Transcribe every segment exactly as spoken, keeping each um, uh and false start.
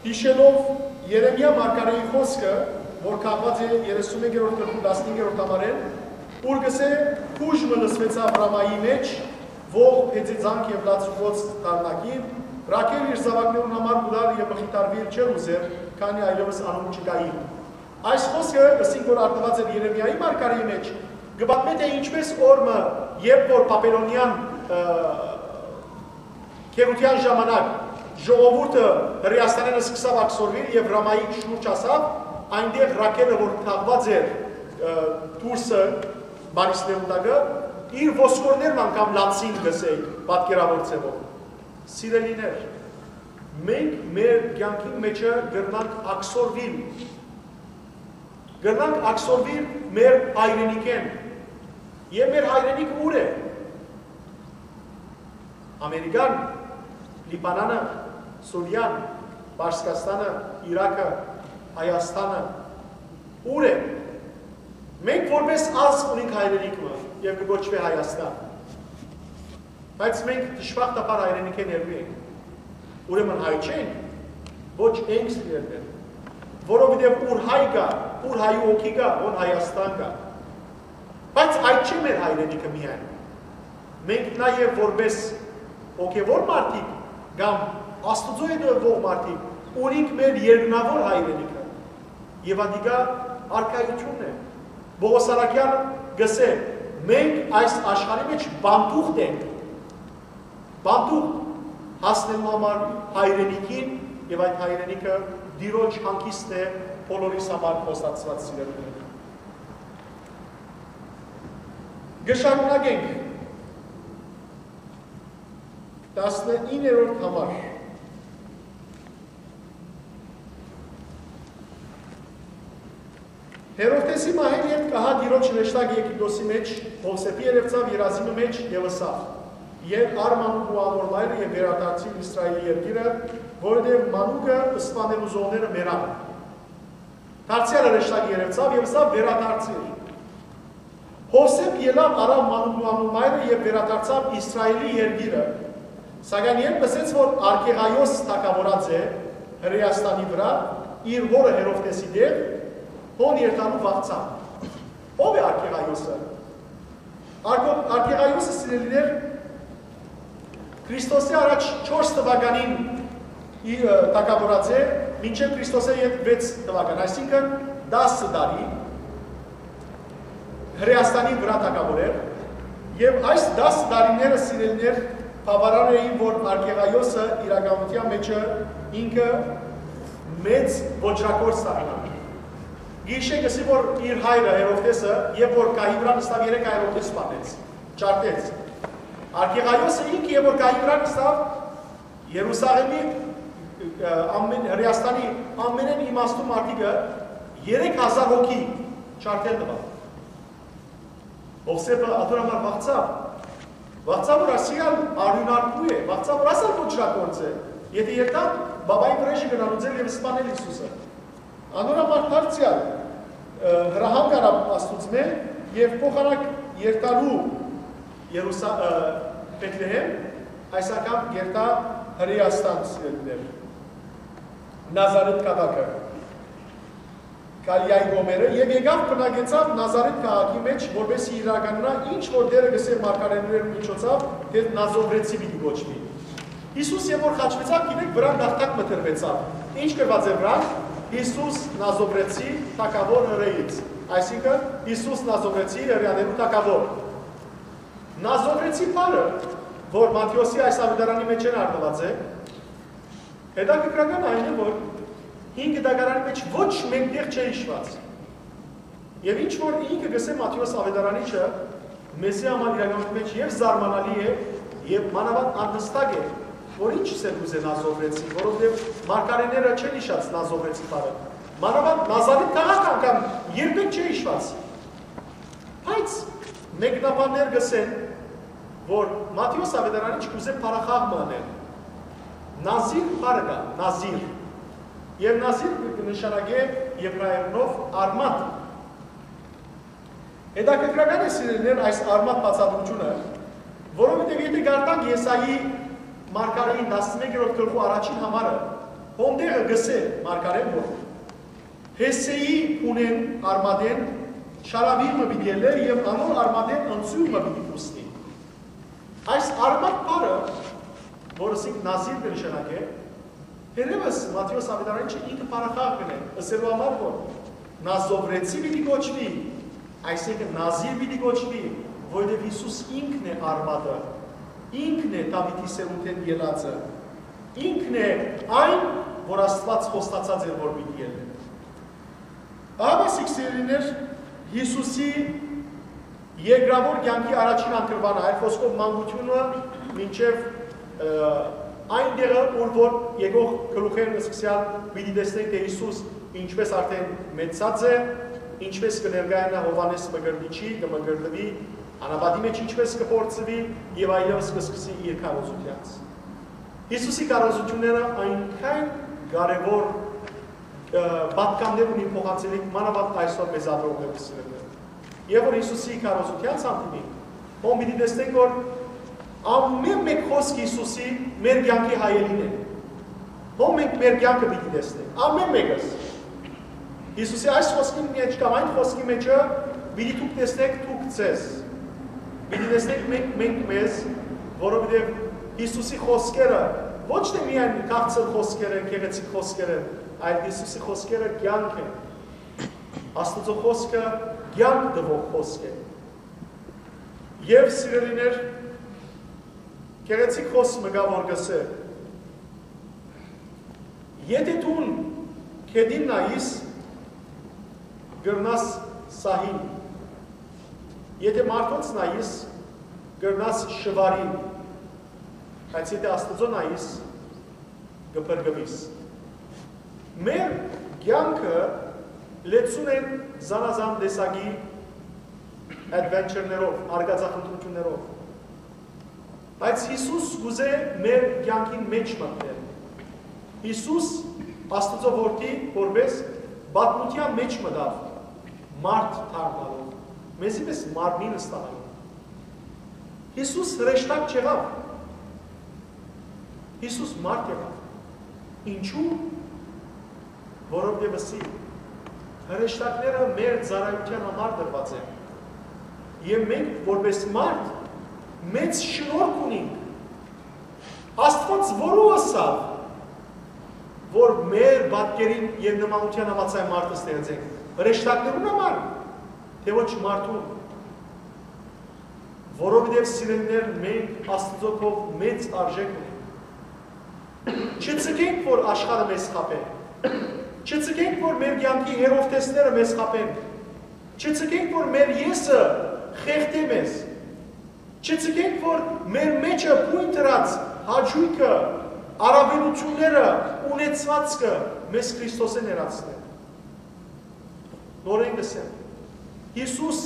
Յիշելով Երեմիա մարգարէի խօսքը, որ կախուած է երեսուն մէկերորդ գլխու տասնհինգերորդ համարէն, ուր կ'ըսէ. «Կուժ մը լսուեցաւ Ռամայի մէջ, ողբ հեծեծանք եւ լաց ու կոց դարնակին, Ռաքէլ իր զաւակներուն համար կու լար եւ մխիթարուիլ չէր ուզեր, քանի այլեւս անոնք չկային»։ Այս խօսքը, ըսինք որ արտուած էր Երեմիայի մարգարէի մէջ, կը պատմէ, թէ ինչպէս օր մը, երբ որ Բաբելոնեան, ը, գերութեան ժամանակ ժողովուրդը Հրեաստանէն սկսաւ ակսորուիլ եւ Ռամայի շուրջ հասաւ, այնտեղ Ռաքէլը, որ թաղուած էր, ը, դուրսը, Մարիսներուն տակը, իր ոսկորներն անգամ լացին, կ'ըսէի, պատկերաւոր ձեւով։ Սիրելիներ, մենք մեր կեանքին մէջը կրնանք ակսորուիլ, կրնանք ակսորուիլ մեր հայրենիքէն։ Եւ մեր հայրենիքը ո՞ւր է։ Ամերիկան, Լիբանանը, Սուրիան, Պարսկաստանը, Իրաքը, Հայաստանը, ո՞ւր է։ Մենք որպես ազգ ունենք հայրենիք մը եւ կը կոչուի Հայաստան։ Բայց մենք դժբախտաբար հայրենիքէն հեռու ենք։ Ուրեմն հայ չենք, ոչ ենք, սիրելիներ, որովհետեւ ուր հայ կայ, ուր հայու հոգի կայ, հոն Հայաստան կայ։ Բայց այդ չէ մեր հայրենիքը միայն։ Մենք նաեւ որպես հոգեւոր մարդիկ կամ Աստուծոյ հետեւող մարդիկ ունենք մեր երկնաւոր հայրենիքը։ Եւ ատիկա արքայութիւնն է։ Պողոս Արաքեան կ'ըսէ. «Մենք այս աշխարհի մէջ պանդուխտ ենք, պանդուխտ հասնելու համար հայրենիքին, եւ այդ հայրենիքը Տիրոջ հանգիստն է բոլորիս համար», խոստացուած, սիրելիներ։ Կը շարունակենք։ Տասնիններորդ համար։ Հերովդէսի մահէն ետք ահա Տիրոջ հրեշտակը Եգիպտոսի մէջ, Յովսէփի երեւցաւ երազի մը մէջ եւ ըսաւ. «Ե՛ղ առ մանուկ ու անոր մայրը եւ վերադարձիր Իսրայէլի երկիրը, որովհետեւ մանուկը սպանելու զոհները մեռան»։ Դարձեալ հրեշտակը երեւցաւ եւ ըսաւ. «Վերադարձիր»։ Յովսէփ ելաւ, առաւ մանուկն ու անոր մայրը եւ վերադարձաւ Իսրայէլի երկիրը։ Սակայն երբ լսեց, որ Արքեղայոս թագաւորած է Հրեաստանի վրայ, իր հօրը Հերովդէսի տեղ, հոն երթալու վախցաւ։ Ո՞վ է Արքեղայոսը։ Արքո-, Արքեղայոսը, սիրելիներ, Քրիստոսի առաջ չորս թուականին ի-, ը, թագաւորած է, մինչեւ Քրիստոսի յետ վեց թուական, այսինքն՝ տասը տարի Հրեաստանի վրայ թագաւոր էր, եւ այս տասը տարիները, սիրելիներ, բաւարար էին, որ Արքեղայոսը իրականութեան մէջը ինքը մեծ ոճրագործ դառնայ։ Գիշե կ'ըսի, որ իր հայրը Հերովդէսը, երբ որ գահի վրայ նստաւ, երեք հայ Հերովդէս սպանեց, ջարդեց։ Արքեղայոսը ինքը, երբ որ գահի վրայ նստաւ, Երուսաղէմի, ը, ամեն, Հրեաստանի ամենէն իմաստուն մարդիկը, երեք հազար հոգի ջարդել տուաւ։ Յովսէփը ատոր համար վախցաւ։ Վախցաւ, որ ասիան արիւնարկու է, վախցաւ, որ ասալ ոճրագործ է։ Եթէ երթայ, բաբայի վրեժը կրնան ուզել եւ սպանել Յիսուսը։ Անոր համար դարձեալ, ը, հրահանգ առաւ Աստուծմէ եւ փոխանակ երթալու Երուսա-, ը, Բեթլեհեմ, այս անգամ կ'երթայ Հրեաստան, սիրելիներ, Նազարեթ քաղաքը, Գալիլայի կողմերը, եւ եկաւ բնակեցաւ Նազարեթ քաղաքի մէջ, որպէս զի իրականանայ ինչ որ Տէրը կ'ըսէր մարգարէներու միջոցաւ, թէ Նազովրեցի պիտի կոչուի։ Յիսուս երբ որ խաչուեցաւ, գիտէք, վրան տախտակ մը դրուեցաւ։ Ի՞նչ գրուած է վրան։ «Յիսուս Նազովրեցի, թագաւոր Հրեաներու»։ Այսինքն՝ «Յիսուս Նազովրեցի, Հրեաներու թագաւոր»։ Նազովրեցի բառը, որ Մատթէոսի այս աւետարանի մէջ արտուած է, հետաքրքրական այն է, որ հինգ դակարանի մէջ ոչ մէկ տեղ չէ յիշուած։ Եւ ինչ որ ինքը կ'ըսէ Մատթէոս աւետարանիչը, մեզի համար իրականության մէջ եւ զարմանալի է, եւ մանաւանդ անհստակ է, որ ինչ ըսել կ'ուզէ Նազովրեցի, որովհետեւ մարգարէները չեն յիշած Նազովրեցի բառը։ Մանաւանդ Նազարեթ քաղաքը անգամ երբեք չէ յիշուած։ Բայց մեկնաբաններ կ'ըսեն, որ Մատթէոս աւետարանիչ կ'ուզէ փառախաղ մը անել։ Նազիր բառը կայ, նազիր։ Եւ նազիր կը նշանակէ եբրայերէնով արմատ։ Հետաքրքրական է, սիրելիներ, այս արմատ բացատրութիւնը, որովհետեւ եթէ կարդանք Եսայի մարգարէին տասնմեկերորդ գլխու առաջին համարը, Հոն տեղը կ'ըսէ մարգարէն, որ Յեսսէի բունէն արմատէն շարաւիղ մը պիտի ելլէր եւ անոր արմատէն ընծիւն մը պիտի բուսնի։ Այս արմատ բառը, որ ըսինք նազիր կը նշանակէ, թերեւս Մատթէոս աւետարանիչը ինքը բառախաղ կ'ընէ, ըսելու համար որ Նազովրեցի պիտի կոչուի, այսինքն նազիր պիտի կոչուի, որովհետեւ Յիսուս ինքն է արմատը, ինքն է Դաւիթի սերունդէն ելածը, ինքն է այն, որ Աստուած խոստացած էր որ պիտի ելլէ։ Ահա սիրելիներ, Յիսուսի երկրաւոր կեանքի առաջին անգրուանը, այլ խօսքով մանկութիւնը մինչեւ, ը, այն տեղը, ուր որ եկող գլուխերն սկսեալ պիտի տեսնենք, թէ Յիսուս ինչպես արդեն մեծցած է, ինչպես կը ներկայանայ Յովհաննէս Մկրտիչի, կը մկրտուի, անապատի մէջ ինչպես կը փորձուի եւ այլեւս կը սկսի իր քարոզութեանց։ Յիսուսի քարոզութիւնները այնքան կարեւոր, ը, պատգամներ ունին փոխանցելիք, մանաւանդ այսօր մեզ ապրողներուն սիրելիներ։ Երբ որ Յիսուսի քարոզութեանց հանդիպինք, հոն պիտի տեսնենք որ ամէն մէկ խօսք Յիսուսի մեր կեանքի հայելին է։ Հոն մենք մեր կեանքը պիտի տեսնենք, ամէն մէկս։ Յիսուսի այս խօսքին մէջ կամ այն խօսքի մէջը պիտի դուք տեսնեք դուք ձեզ, պիտի տեսնենք մենք, մենք մեզ, որովհետեւ Յիսուսի խօսքերը ոչ թէ միայն քաղցր խօսքեր են, գեղեցիկ խօսքեր են, այլ Յիսուսի խօսքերը կեանք են։ Աստուծոյ խօսքը կեանք տուող խօսք է։ Եւ սիրելիներ, գեղեցիկ խօսք մը կայ որ կ'ըսէ. «Եթէ դուն գետին նայիս, կրնաս սահիլ, եթէ մարդոց նայիս, կրնաս շուարիլ, բայց եթէ Աստուծոյ նայիս, կը փրկուիս»։ Մեր կեանքը լեցուն են զանազան տեսակի adventure-ներով, արկածախնդրութիւններով։ Բայց Յիսուս կ'ուզէ մեր կեանքին մէջ մտնել։ Յիսուս, Աստուծոյ Որդի, որպէս պատմութեան մէջ մտաւ, մարդ դառնալով, մեզի մեզ մարմին ստանալով։ Յիսուս հրեշտակ չեղաւ։ Յիսուս մարդ եղաւ։ Ինչու՞։ Որովհետեւ ըսի, հրեշտակները մեր ծառայութեան համար տրուած են։ Եւ մենք, որպէս մարդ, մեծ շնորհք ունինք։ Աստուած որո՞ւ ըսաւ, որ մեր պատկերին եւ նմանութեան համաձայն մարդ ստեղծենք։ Հրեշտակներուն համար, թէ ոչ մարդուն։ Որովհետեւ, սիրելիներ, մենք Աստուծոյ քով մեծ արժէք ունենք։ Չձգենք, որ աշխարհը մեզ խաբէ։ Չձգենք, որ մեր կեանքի հերովտեսները մեզ խաբեն։ Չձգենք, որ մեր եսը խեղդէ մեզ։ Չձգենք, որ մեր մէջը բոյն դրած հաճոյքը, առաւելութիւնները, ունեցուածքը մեզ Քրիստոսէն հեռացնեն։ Նորէն կ'ըսեմ, Յիսուս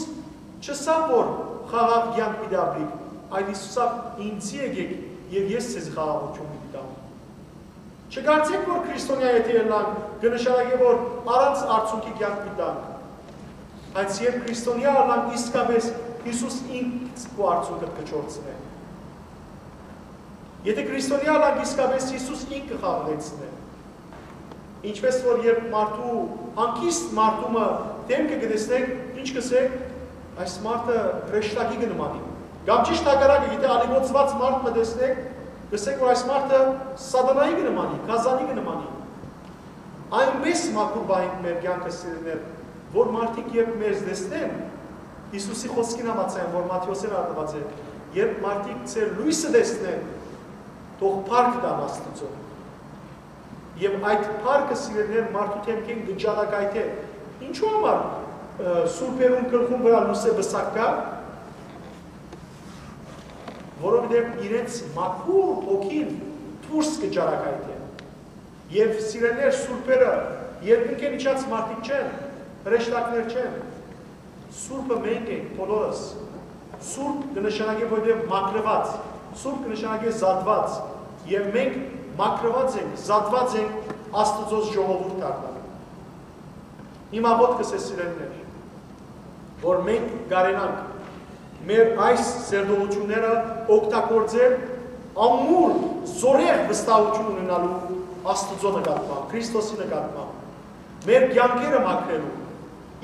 չըսաւ, որ խաղաղ կեանք պիտի ապրիք, այլ Յիսուս ըսաւ. «Ինծի եկէք եւ ես ձեզի խաղաղութիւն պիտի տամ»։ Չկարծէք, որ քրիստոնեայ եթէ ըլլանք, կը նշանակէ, որ առանց արցունքի կեանք պիտի տանք։ Բայց երբ քրիստոնեայ ըլլանք, իսկապէս Յիսուս ինք քու արցունքդ կը չորցնէ։ Եթէ քրիստոնեայ ըլլանք, իսկապէս Յիսուս ինք կը խաղաղեցնէ։ Ինչպես որ երբ մարդու, հանգիստ մարդու մը դեմքը կը տեսնեք, ինչ կ'ըսեք, այս մարդը հրեշտակի կը նմանի։ Կամ ճիշդ հակառակը, եթէ ալիգոցուած մարդ մը տեսնեք, կ'ըսեք, որ այս մարդը սատանայի կը նմանի, գազանի կը նմանի։ Այնպէս մաքուր պահենք մեր կեանքը, սիրելիներ, որ մարդիկ երբ մեզ տեսնեն, Յիսուսի խօսքին համաձայն, որ Մատթէոսէն արտուած է, երբ մարդիկ ձեր լոյսը տեսնեն, թող փառք տան Աստուծոյ։ Եւ այդ փառքը, սիրելիներ, մարդու դեմքին կը ճառագայթէ։ Ինչու համար, ը, սուրբերուն գլխուն վրայ լուսէ պսակ կայ, որովհետեւ իրենց մաքուր հոգին դուրս կը ճառագայթէ։ Եւ, սիրելիներ, սուրբերը երկնքէն իջած մարդիկ չեն, հրեշտակներ չեն։ Սուրբը մենք ենք բոլորս։ Սուրբ կը նշանակէ, որովհետեւ մաքրուած, սուրբ կը նշանակէ զատուած, եւ մենք մաքրուած ենք, զատուած ենք Աստուծոյ ժողովուրդ դառնալու։ Իմ աղօթքս է, սիրելիներ, որ մենք կարենանք մեր այս սերտողութիւնները օգտագործել ամուր, զօրեղ վստահութիւն ունենալու Աստուծոյ նկատմամբ, Քրիստոսի նկատմամբ, մեր կեանքերը մաքրելու,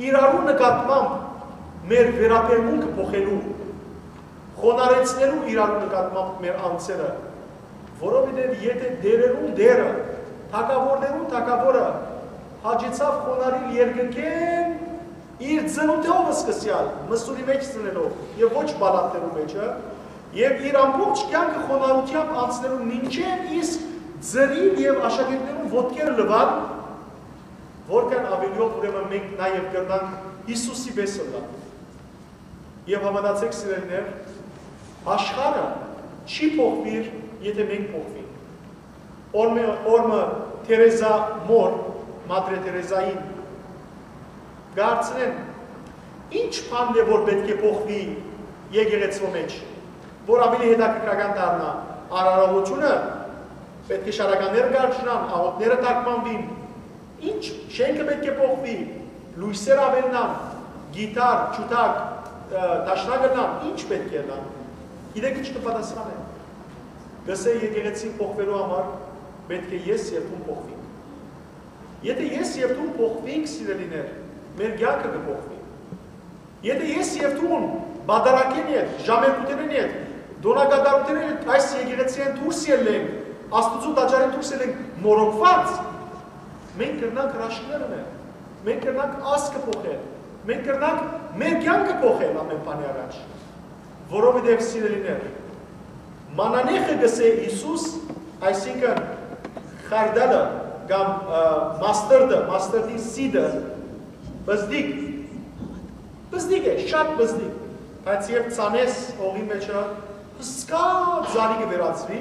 իրարու նկատմամբ մեր վերաբերմունքը փոխելու, խոնարհեցնելու իրարու նկատմամբ մեր անձերը, որովհետեւ եթէ տէրերուն Տէրը, թագաւորներուն թագաւորը հաճեցաւ խոնարհիլ երկնքէն իր ծնունդով սկսեալ, մսուրի մէջ ծնելով եւ ոչ պալատներու մէջը, եւ իր ամբողջ կեանքը խոնարհութեամբ անցնելու մինչեւ իսկ ձրին եւ աշակերտներուն ոտքերը լուան, որքան աւելիով ուրեմն մենք նաեւ կրնանք Յիսուսի պէս ըլլալ։ Եւ հաւատացէք, սիրելիներ, աշխարհը չի փոխուիր, եթէ մենք փոխուինք։ Օրմը, օրմը Թերեզա մոր, Մատրե Թերեզային, կհարցնեն, ինչ բանն է, որ պէտք է փոխուի եկեղեցւոյ մէջ, որ աւելի հետաքրքրական դառնայ, արարողությունը, պէտք է շարականները կառչնան, աղօթքները թարգմանուին, ինչ շէնքը պէտք է փոխուի, լոյսեր աւելնան, կիթառ, ջութակ, ը, դաշնակը լան, ինչ պէտք է լան։ Գիտեք ինչ կը պատասխանեն։ Կըսէ, եկեղեցին փոխուելու համար պէտք է ես եւ դուն փոխուինք։ Եթէ ես եւ դուն փոխուինք, սիրելիներ, մեր կեանքը կը փոխուի։ Եթէ ես եւ դուն պատարագէն հետ, ժամերգութենէն հետ, տօնակատարութենէն հետ այս եկեղեցիէն դուրս ելլենք, Աստուծոյ տաճարէն դուրս ելլենք մորոքուած, մենք կրնանք հրաշքներ ընել, մենք կրնանք ազգը փոխել, մենք կրնանք մեր կեանքը փոխել ամէն բանի առաջ։ Որովհետեւ, սիրելիներ, մանանեխը կ'ըսէ Յիսուս, այսինքն՝ խարդալը կամ, ը, մաստերդը, մաստերդի սիդը, բզդիկ, բզդիկ է, շատ բզդիկ, բայց երբ ցանես հողի մէջը, հսկայ ծառի կը վերածուի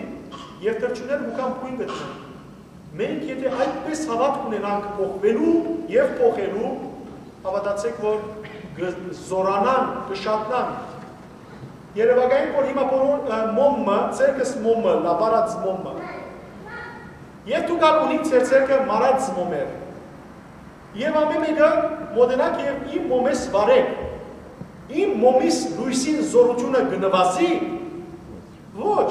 եւ թռչունները մուքան բոյն կը դնեն։ Մենք եթէ այդպես հաւատք ունենանք փոխուելու եւ փոխելու, հաւատացէք, որ կը զօրանանք, կը շատնանք։ Երեւակայենք, որ հիմա բոլոր, ը, մոմը, ձեռքս մոմը, լապարած մոմը։ Եւ դուք ալ ունիք ձեր ձեռքը մարած մոմեր։ Եւ ամէն մէկը մօտենաք եւ իմ մոմես վարեք։ Իմ մոմիս լոյսին զօրութիւնը կը նուազի։ Ոչ։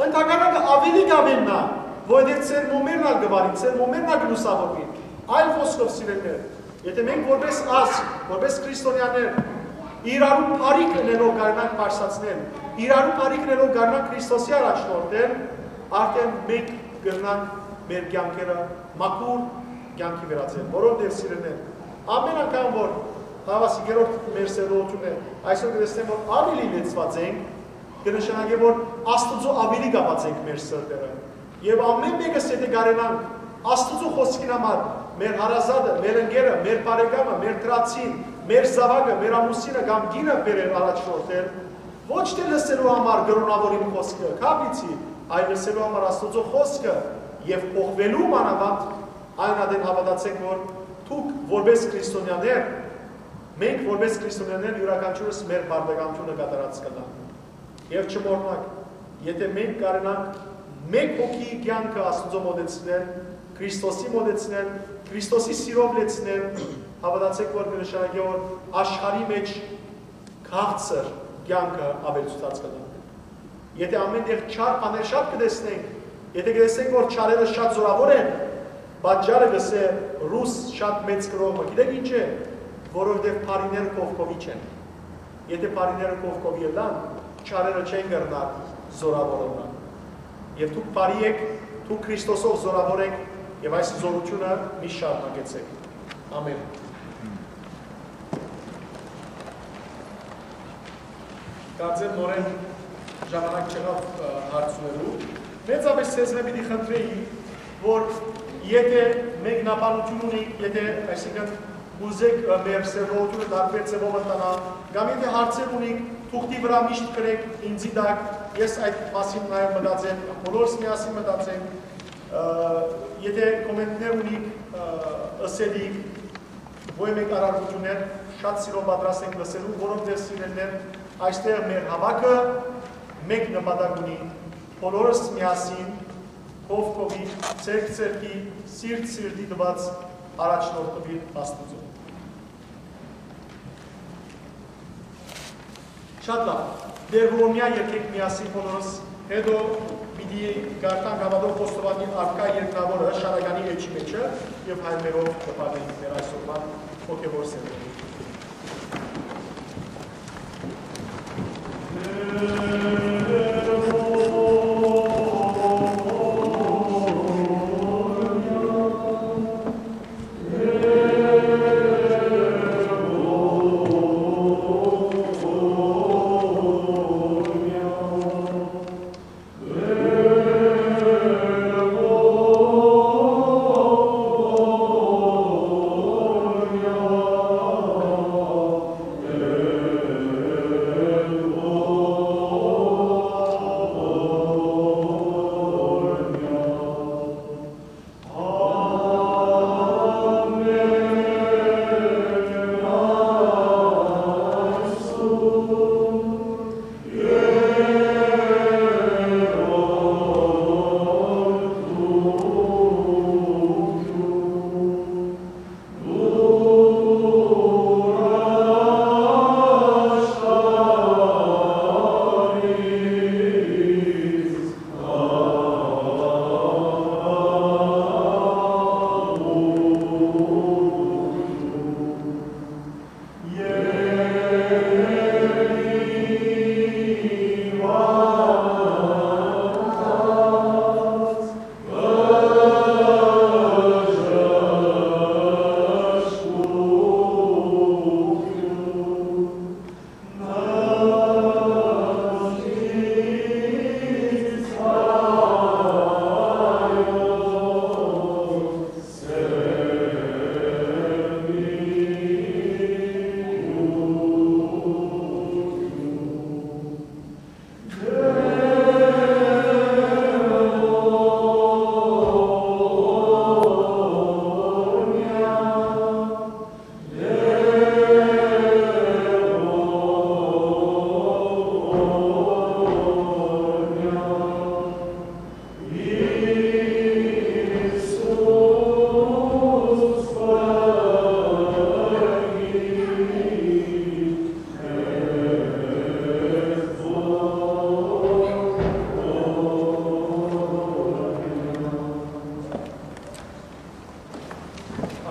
Ընդհակառակը, աւելի կ'աւելնայ, որովհետեւ ձեր մոմերն ալ կը վարին, ձեր մոմերն ալ կը լուսաւորուին։ Այլ խօսքով, սիրելիներ, եթէ մենք որպես ազգ, որպես քրիստոնեաներ, իրարու բարիք ընելով կարենանք բարձրացնել, իրարու բարիք ընելով կարենանք Քրիստոսի առաջնորդել, արդեն մենք կրնանք մեր կեանքերը մաքուր կեանքի վերածել, որովհետեւ, սիրելիներ, ամէն անգամ որ, հաւասի երրորդ մեր սերտողութիւնն է, այսօր կտեսնեմ, որ աւելի լեցուած ենք, կը նշանակէ, որ Աստուծոյ աւելի կապած ենք մեր սրտերը։ Եւ ամէն մէկս եթէ կարենանք Աստուծոյ խօսքին համար մեր հարազատը, մեր ընկերը, մեր բարեկամը, մեր դրացին, մեր զաւակը, մեր ամուսինը կամ կինը բերել առաջնորդել, ոչ թէ լսելու համար կրօնաւոր իմ խօսքը, քապիցի, այլ լսելու համար Աստուծոյ խօսքը եւ փոխուելու մանաւանդ, այն ատեն հաւատացէք, որ դուք որպես քրիստոնեաներ, մենք որպես քրիստոնեաներ յուրաքանչիւրս մեր պարտականութիւնը կատարած կ'ըլլանք։ Եւ չմոռնաք, եթէ մենք կարենանք մէկ հոգի կեանքը Աստուծոյ մօտեցնել, Քրիստոսի մօտեցնել, Քրիստոսի սիրով լեցնել, հաւատացէք, որ կը նշանակէ, որ աշխարհի մէջ քաղցր կեանքը աւելցուցած կ'ըլլանք։ Եթէ ամէն տեղ չար բաներ շատ կը տեսնենք, եթէ կը տեսնենք, որ չարերը շատ զօրաւոր են, պատճառը կ'ըսէ ռուս շատ մեծ գրող մը, գիտեք ինչ է, որովհետեւ բարիները կովկովի չեն։ Եթէ բարիները կովկովի ըլլան, չարերը չեն կրնար զօրաւոր ըլլան։ Եւ դուք բարի էք, դուք Քրիստոսով զօրաւոր էք, եւ այս զօրութիւնը միշտ շարունակեցէք։ Ամէն։ Կարծեմ նորէն ժամանակ չեղաւ, ը, հարցուելու։ Մեծապէս ձեզմէ պիտի խնդրեի, որ եթէ մեկնաբանութիւն ունիք, եթէ, այսինքն, կ'ուզէք, ը, մեր սերտողութիւնը տարբեր ձեւով ընթանայ, կամ եթէ հարցեր ունիք, թուղթի վրայ միշտ գրէք ինծի տակ, ես այդ մասին նաեւ մտածեմ, բոլորս միասին մտածենք, ը, եթէ կոմենտներ ունիք, ը, ըսելիք, ոյ մէկ արարողութիւններ, շատ սիրով պատրաստ ենք լսելու, որովհետեւ, սիրելիներ, այստեղ մեր հաւաքը մէկ նպատակ ունի, բոլորս միասին, կովկովի, ձեռք ձեռքի, սիրտ սիրտի տուած առաջնորդուիլ Աստուծոյ։ Շատ լավ։ Տէր ողորմեա, երգենք միասին բոլորս, հետո պիտի Կ'արթանք Աբատով Խոստովանի առկայ երկնաւորը շարականի էջի մէջը եւ հայրերով կը պատմենք մեր այսօրվան հոգեւոր սերունդը։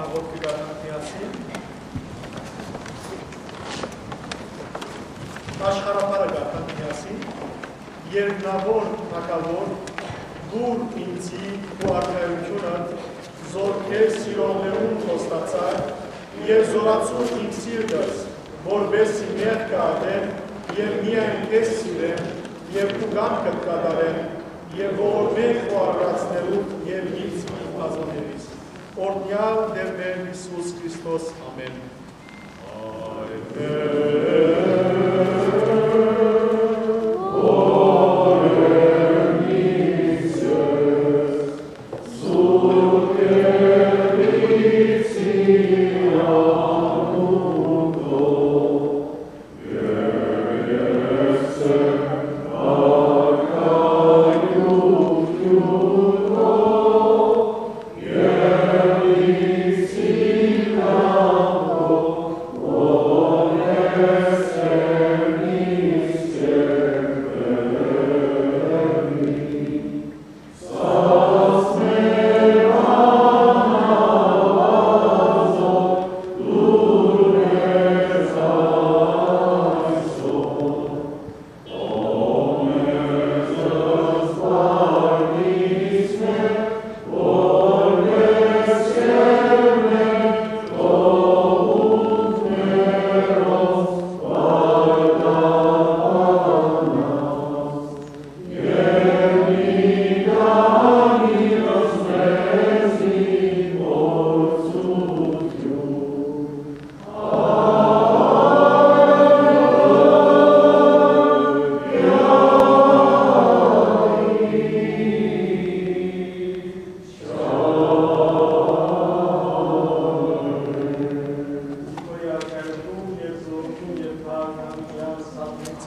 Աղօթքը կ'անենք միասին։ Աշխարհաբարը կ'անենք միասին։ Երկնաւոր Թագաւոր, տուր ինծի քու արքայութիւնը, զոր քեզ սիրողներուն խոստացայ, եւ զօրացուր իմ սիրտս, որպէս զի մեղքը ատեմ եւ միայն քեզ սիրեմ եւ քու կամքդ կատարեմ, եւ ողորմէ քու արարածներուդ եւ ինձ իմ բազաներիս։ Օրհնեալ Տէր մեր Յիսուս Քրիստոս։ Ամէն։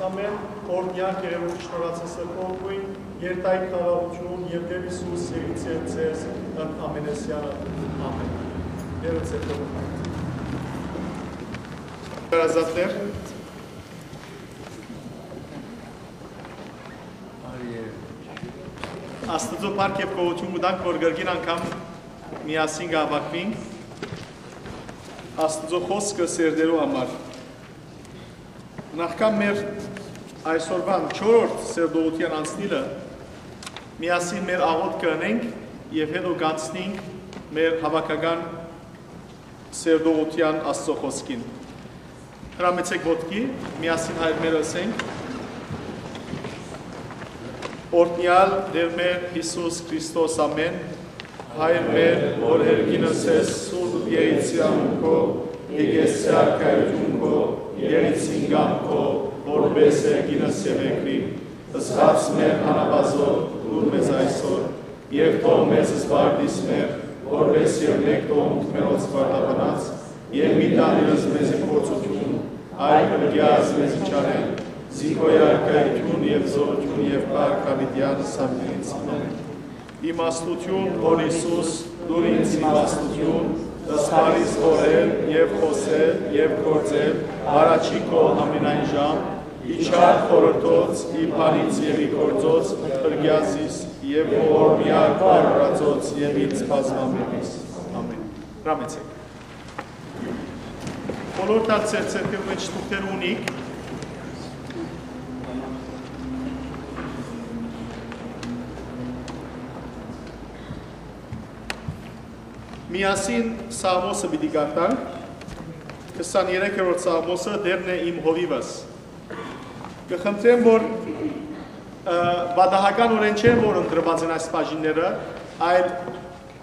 Ամէն, օրհնեալ Տէր, շնորհացս ըրկողքույն, երթայք խաղաղութիւն եւ Տէր Յիսուս սիրեցեր ձեզ ընդ ամենեսյանը։ Ամէն։ Տերը ձեր հետ։ Հարազատներ, արի, Աստուծոյ փառք եւ գոհութիւն կու տանք, որ կրկին անգամ միասին կ'հաւաքուինք Աստուծոյ խօսքը սերտելու համար։ Նախքան մեր այսօրուան չորրորդ սերտողութեան անցնիլը, միասին մեր աղօթքը ընենք եւ հետո կանցնենք մեր հաւաքական սերտողութեան Աստուծոյ խօսքին։ Հրամեցէք ոտքի, միասին հայր մեր ըսենք. Օրհնեալ Տէր մեր Յիսուս Քրիստոս, ամէն։ Հայր մեր, որ երկինս ես, սուրբ Եղեցեան քո, եկեղեցի արքայութիւն քո, եղեցին կամքով, որպէս երկինս եւ երկրին։ Զգաց մեր անապազոր, դուր մեզ այսօր, եւ թող մեզ զբաղիս մեր, որպէս եւ մեկ թողունք մերոց վարդապնած, եւ մի տանիրս մեզի փորձութիւն, այլ ըրկեաս մեզի չարէն, զի քո արքայութիւն եւ զօրութիւն եւ փառք յաւիտեան սանտինից։ Ամէն։ Իմաստութիւն, որ Յիսուս, դուր ինձ իմաստութիւն, զբաղիս խորհել եւ խօսել եւ գործել, առաջի քո ամենայն ժամ, ի չար խորհրդոց, ի բանից եւ ի գործոց, ըրկեաս զիս եւ ողորմեալ քո արարածոց եւ ինձ բազմամենից։ Ամէն։ Հրամեցէք։ Բոլոր դարձեր ձեռքերու մէջ թուղթեր ունիք։ Միասին Սաղմոսը պիտի կարդանք, քսաներեքերորդ Սաղմոսը, «Տէրն է իմ հովիվս»։ Կը խնդրեմ, որ, ը, պատահականօրէն չեն, որ ընտրուած են այս բաժինները, այլ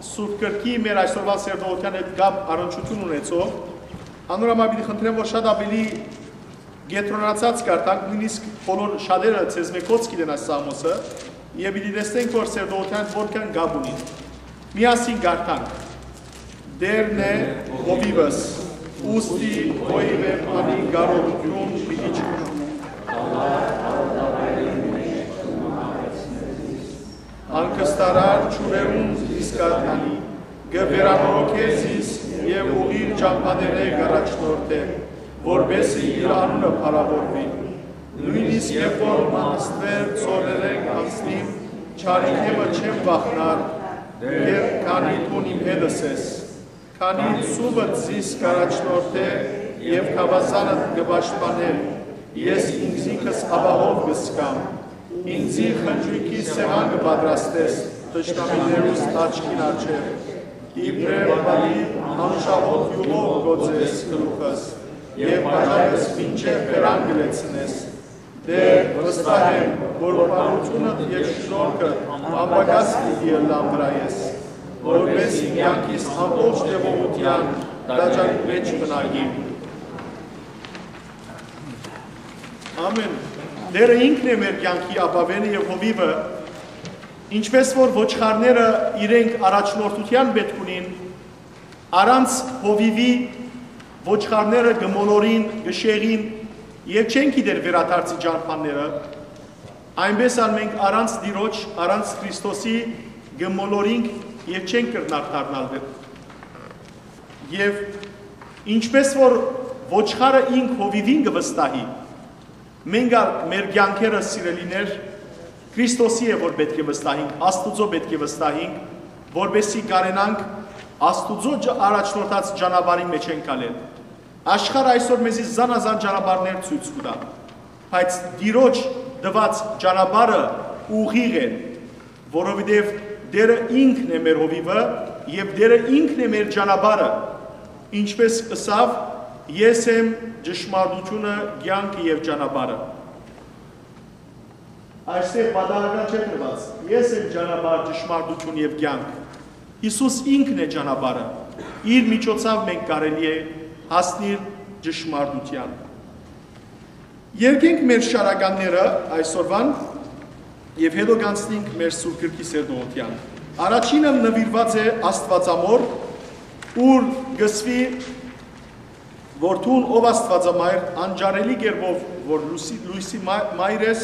Սուրբ Գրքի մեր այսօրվա սերտողութեան հետ կապ առնչութիւն ունեցող, անոր համար պիտի խնդրեմ, որ շատ աւելի կեդրոնացած կարդանք, նոյնիսկ բոլոր շատերը ձեզմէ կոչ կ'ընեն այս Սաղմոսը, եւ պիտի տեսնենք, որ սերտողութեան հետ որքան կապ ունի։ Միասին կարդանք. «Տէրն է հովիվս, ուստի հովիվէն անի կարողութիւն պիտի չունի։ Հանգստարար ջուրերուն զիս կ'արթանի, կը վերանորոգէ զիս եւ ուղիղ ճամբաներէ կ'առաջնորդէ, որպէս զի իր անունը փառաւորուի։ Նոյնիսկ երբ որ մանաստուեր ձորերէն անցնիմ, չարիքէ մը չեմ վախնար, Տէր, քանի դուն իմ հետս ես։ Քանի ծուվդ զիս կ'առաջնորդէ եւ գաւազանդ կը պաշտպանէ, ես ինքզինքս ապահով կը զգամ։ Ինծի խնջոյքի սեղան կը պատրաստես թշնամիներուս աչքին առջեւ։ Իբրեւ բալի անշահոտ իւղով կ'օծես գլուխս եւ բաժակս մինչեւ բերան կը լեցնես։ Տէր, վստահ եմ, որ բարութիւնդ եւ շնորհքդ անպակաս պիտի ըլլան վրայէս, որպէս զի կեանքիս ամբողջ տեւողութեան տաճարին մէջ բնակիմ»։ Ամէն։ Տէրը ինքն է մեր կեանքի ապաւէնը եւ հովիվը, ինչպէս որ ոչխարները իրենք առաջնորդութեան պէտք ունին, առանց հովիւի ոչխարները կը մոլորին, կը շեղին եւ չեն գիտեր վերադարձի ճամբաները, այնպէս ալ մենք առանց Տիրոջ, առանց Քրիստոսի կը մոլորինք եւ չենք կրնար դառնալ վեր։ Եւ ինչպէս որ ոչխարը ինք հովիւին կը վստահի, մենք ալ մեր կեանքերը, սիրելիներ, Քրիստոսի է, որ պէտք է վստահենք, Աստուծոյ պէտք է վստահենք, որպէս զի կարենանք Աստուծոյ ջ-, առաջնորդած ճանապարհին մէջ ենք ալել։ Աշխարհը այսօր մեզի զանազան ճանապարհներ ցոյց կու տայ, բայց Տիրոջ տուած ճանապարհը ուղիղ է, որովհետեւ Տէրը ինքն է մեր հովիվը եւ Տէրը ինքն է մեր ճանապարհը, ինչպէս ըսաւ. «Ես եմ ճշմարտությունը, կեանքը եւ ճանապարհը»։ Այստեղ պատահական չէ դրուած. «Ես եմ ճանապարհ, ճշմարտություն եւ կեանք»։ Յիսուս ինքն է ճանապարհը։ Իր միջոցաւ մենք կարելի է հասնիլ ճշմարտութեան։ Երկենք մեր շարականները այսօրվան եւ հետո կանցնենք մեր Սուրբ Գրքի սերտողութեան։ Առաջինը նուիրուած է Աստուածամոր, ուր կ'ըսուի, որ դուն, ով Աստուածամայր, անճարելի կերպով, որ լուսի, լույսի մա-, մայր ես,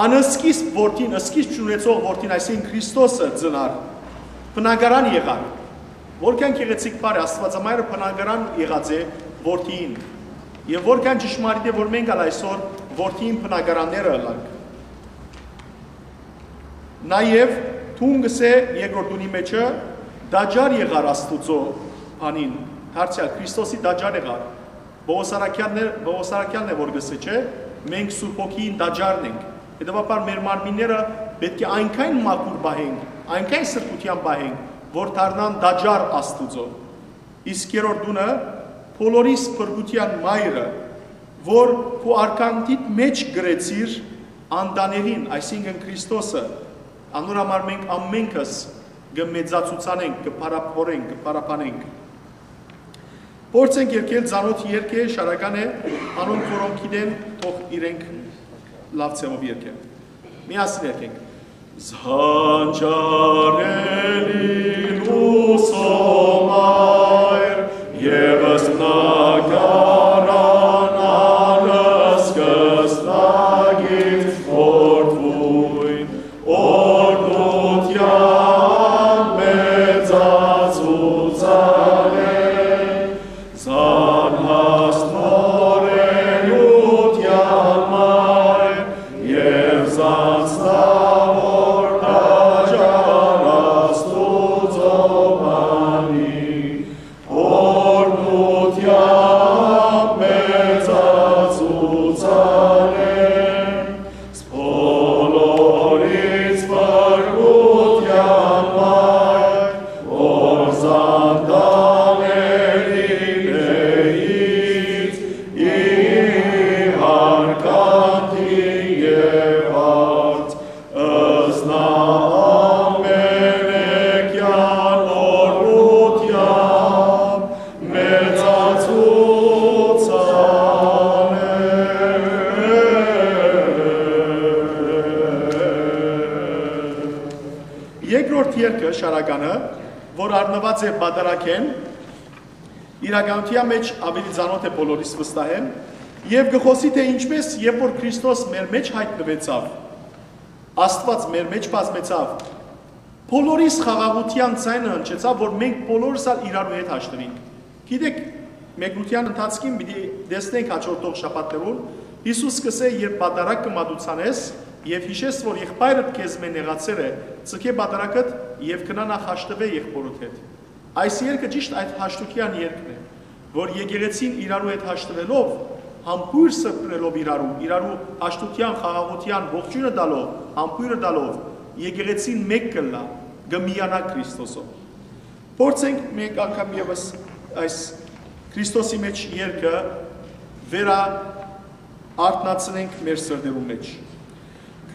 անսկիզբ որդին, սկիզբ չունեցող որդին, այսինքն Քրիստոսը ծնար, բնակարան եղար։ Որքան գեղեցիկ բառ է, Աստուածամայրը բնակարան եղած է որդիին։ Եւ որքան ճշմարիտ է, որ մենք ալ այսօր որդիին բնակարանները ըլանք։ Նաեւ դուն կ'ըսէ երկրորդ տունի մէջը, տաճար եղար Աստուծոյ բանին, դարձեալ Քրիստոսի տաճար եղար։ Պողոս առաքեալն է, Պողոս առաքեալն է որ կ'ըսէ, չէ՞, մենք Սուրբ Հոգիին տաճարն ենք։ Հետեւաբար մեր մարմինները պէտք է այնքան մաքուր պահենք, այնքան սրբութեան պահենք, որ դառնան տաճար Աստուծոյ։ Իսկ երրորդ տունը, բոլորիս փրկութեան մայրը, որ քու արքանիդ մէջ կրեցիր անտանելին, այսինքն Քրիստոսը, անոր համար մենք ամենքս կը մեծացուցանենք, կը փառաբանենք, կը փառաբանենք։ Փորձենք երկել ծանոթ երկը, շարական է, անոնք որոնք գիտեն, թող իրենք լաւ ձեւով երկեն։ Միասին երկենք։ Զանջարելի լուսո մայր, եւս մնակարան անսկսնակից որդուն, օրհնութեան մեծացուցանեն, զանհասնորենութեան մայր, եւ զանձնաւոր տաճար Աստուծոյ բանի, օրհնութեան մեծացուցանեն, բոլորից փրկութեան մայր, որ զանտանելի էից ի հարկանքի եւ հարց, ըսնա ամենեքեան օրհնութեան մեծացուցանեն։ Երկրորդ երկը, շարականը, որ առնուած է պատարագէն, իրականութեան մէջ աւելի ծանօթ է բոլորիս վստահ եմ, եւ կը խօսի, թէ ինչպէս երբ որ Քրիստոս մեր մէջ յայտնուեցաւ, Աստուած մեր մէջ բազմեցաւ, բոլորիս խաղաղութեան ձայնը հնչեցաւ, որ մենք բոլորս ալ իրարու հետ հաշտուենք։ Գիտէք, մեկնութեան ընթացքին պիտի տեսնենք հաջորդող շաբաթներուն, Յիսուս կ'ըսէ, երբ պատարագ կը մատուցանես եւ յիշես, որ եղբայրդ քեզմէ նեղացեր է, ձգէ պատարագդ եւ գնա նախ հաշտուէ եղբօրդ հետ։ Այս երկը ճիշդ այդ հաշտութեան երկն է, որ եկեղեցին իրարու հետ հաշտուելով, համբոյր սրբնելով իրարու, իրարու հաշտութեան, խաղաղութեան ողջոյնը տալով, համբոյրը տալով, եկեղեցին մէկ կ'ըլլայ, կը միանայ Քրիստոսով։ Փորձենք մէկ անգամ եւս այս Քրիստոսի մէջ երկը վերա արթնացնենք մեր սրտերուն մէջ։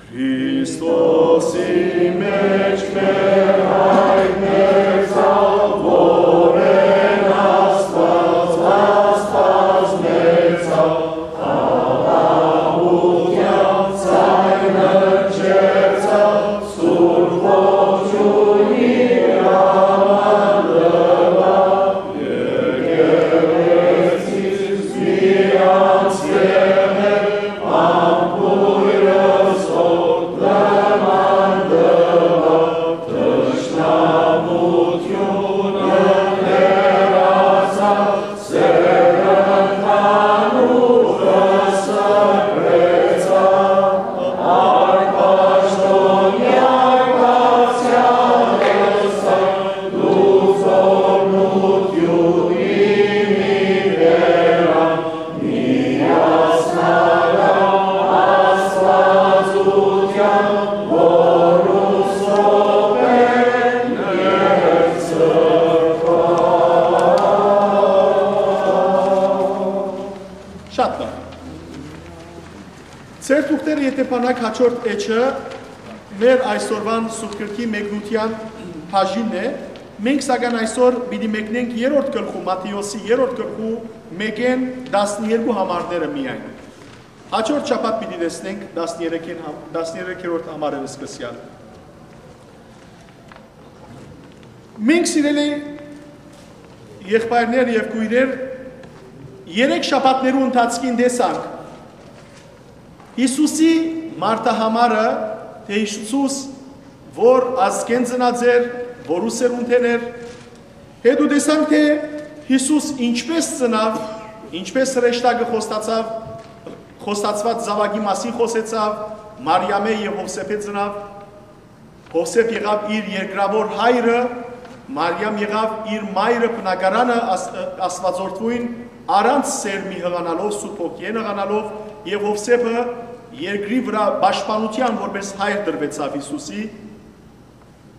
Քրիստոսի մէջ մեր հայտնեցաւ, որեն Աստուած, Աստուած մեծաւ, խաղաղութեան ձայնը հնչեցաւ, Սուրբ Ոգիին իր աման տուաւ, եկեղեցիս մի անցկերն է, Շատ լավ։ Ձեր թուղթերը, եթե բանակ, հաջորդ էջը մեր այսօրվան Սուրբ Գրքի մեկնութեան բաժինն է։ Մենք, սակայն, այսօր պիտի մեկնենք երրորդ գլխու, Մատթէոսի երրորդ գլխու մէկէն տասներկու համարները միայն։ Հաջորդ շաբաթ պիտի տեսնենք տասներեքին հա-, տասներեքերորդ համարը սկսեալ։ Մենք, սիրելի եղբայրներ եւ քոյրեր, երեք շաբաթներու ընթացքին տեսանք Յիսուսի մարդահամարը, թէ Յիսուս որ ազգէն ծնած էր, որու սերունդէն էր, հետո տեսանք թէ Յիսուս ինչպէս ծնաւ, ինչպէս հրեշտակը խոստացաւ, խոստացուած զաւակի մասին խօսեցաւ, Մարիամէ եւ Յովսէփէ ծնաւ, Յովսէփ եղաւ իր երկրաւոր հայրը, Մարիամ եղաւ իր մայրը բնակարանը աս-, Աստուածորդւոյն, առանց սերմի յղանալով, Սուրբ Հոգիէն յղանալով, եւ Յովսէփը երկրի վրայ պաշտպանութեան որպէս հայր տրուեցաւ Յիսուսի։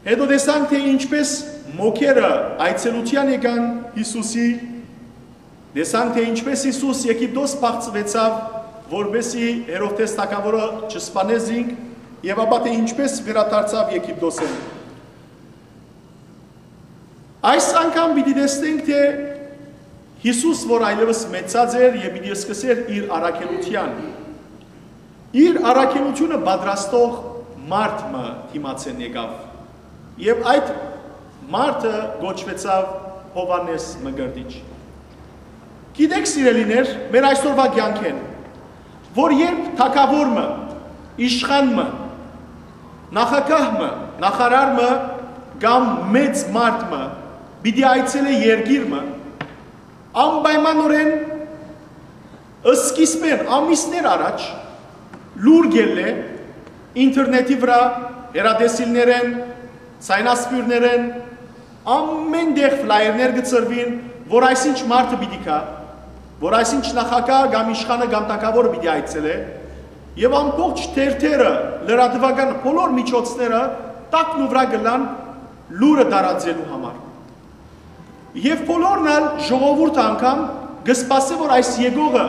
Հետո տեսանք, թէ ինչպէս մոգերը այցելութեան եկան Յիսուսի, տեսանք, թէ ինչպէս Յիսուս Եգիպտոս փախցուեցաւ, որպէսզի Հերովդէս թագաւորը չսպանէ զինք, եւ ապա թէ ինչպէս վերադարձաւ Եգիպտոսէն։ Այս անգամ պիտի տեսնենք, թէ Յիսուս, որ այլեւս մեծած էր եւ պիտի սկսէր իր առաքելութեան, իր առաքելութիւնը պատրաստող մարդ մը դիմացէն եկաւ, եւ այդ մարդը կոչուեցաւ Յովհաննէս Մկրտիչ։ Գիտեք, սիրելիներ, մեր այսօրվա կեանքէն, որ երբ թագաւոր մը, իշխան մը, նախագահ մը, նախարար մը կամ մեծ մարդ մը պիտի այցելէ երկիր մը, անպայմանօրէն սկիզբէն ամիսներ առաջ լուր կ'ելլէ ինտերնետի վրայ, հեռատեսիլներէն, ցայնասփիւռներէն, ամէն տեղ ֆլայերներ կը ցրուին, որ այսինչ մարդը պիտի գայ, որ այսինչ նախագահը կամ իշխանը կամ թագաւորը պիտի այցելէ, եւ ամբողջ թերթերը, լրատուական բոլոր միջոցները տակն ու վրայ կ'ըլլան լուրը տարածելու համար։ Եւ բոլորն ալ, ժողովուրդը անգամ կը սպասէ, որ այս եկողը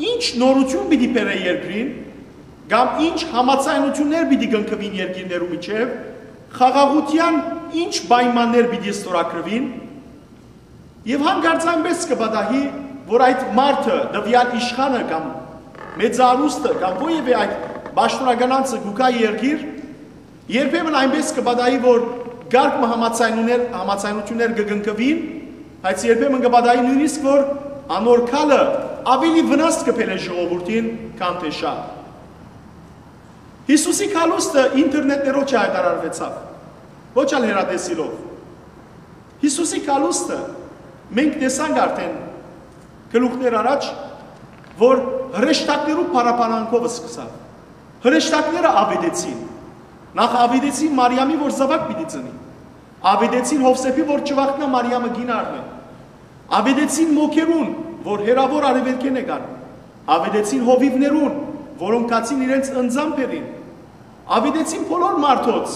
ինչ նորութիւն պիտի բերէ երկրին, կամ ինչ համաձայնութիւններ պիտի կնքուին երկիրներու միջեւ, խաղաղութեան ինչ պայմաններ պիտի ստորագրուին, եւ հանկարծ այնպէս կը պատահի, որ այդ մարդը, տուեալ իշխանը կամ մեծարուստը կամ որեւէ այդ պաշտօնական անձը կու գայ երկիր, երբեմն այնպէս կը պատահի, որ կարգ մը համաձայնուներ-, համաձայնութիւններ կը կնքուին, բայց երբեմն կը պատահի նոյնիսկ, որ անոր գալը աւելի վնաս կը բերէ ժողովուրդին, քան թէ շահ։ Յիսուսի գալուստը ինտերնետներով չյայտարարուեցաւ, ոչ ալ հեռատեսիլով։ Յիսուսի գալուստը, մենք տեսանք արդէն գլուխներ առաջ, որ հրեշտակներու փառաբանանքով սկսաւ։ Հրեշտակները աւետեցին։ Նախ աւետեցին Մարիամի, որ զաւակ պիտի ծնի։ Աւետեցին Յովսէփի, որ չվախնայ Մարիամը կին առնէ։ Աւետեցին մոգերուն, որ հեռաւոր արեւելքէն եկան։ Աւետեցին հովիւներուն, որոնք գացին իրենց ընծան բերին։ Աւետեցին բոլոր մարդոց,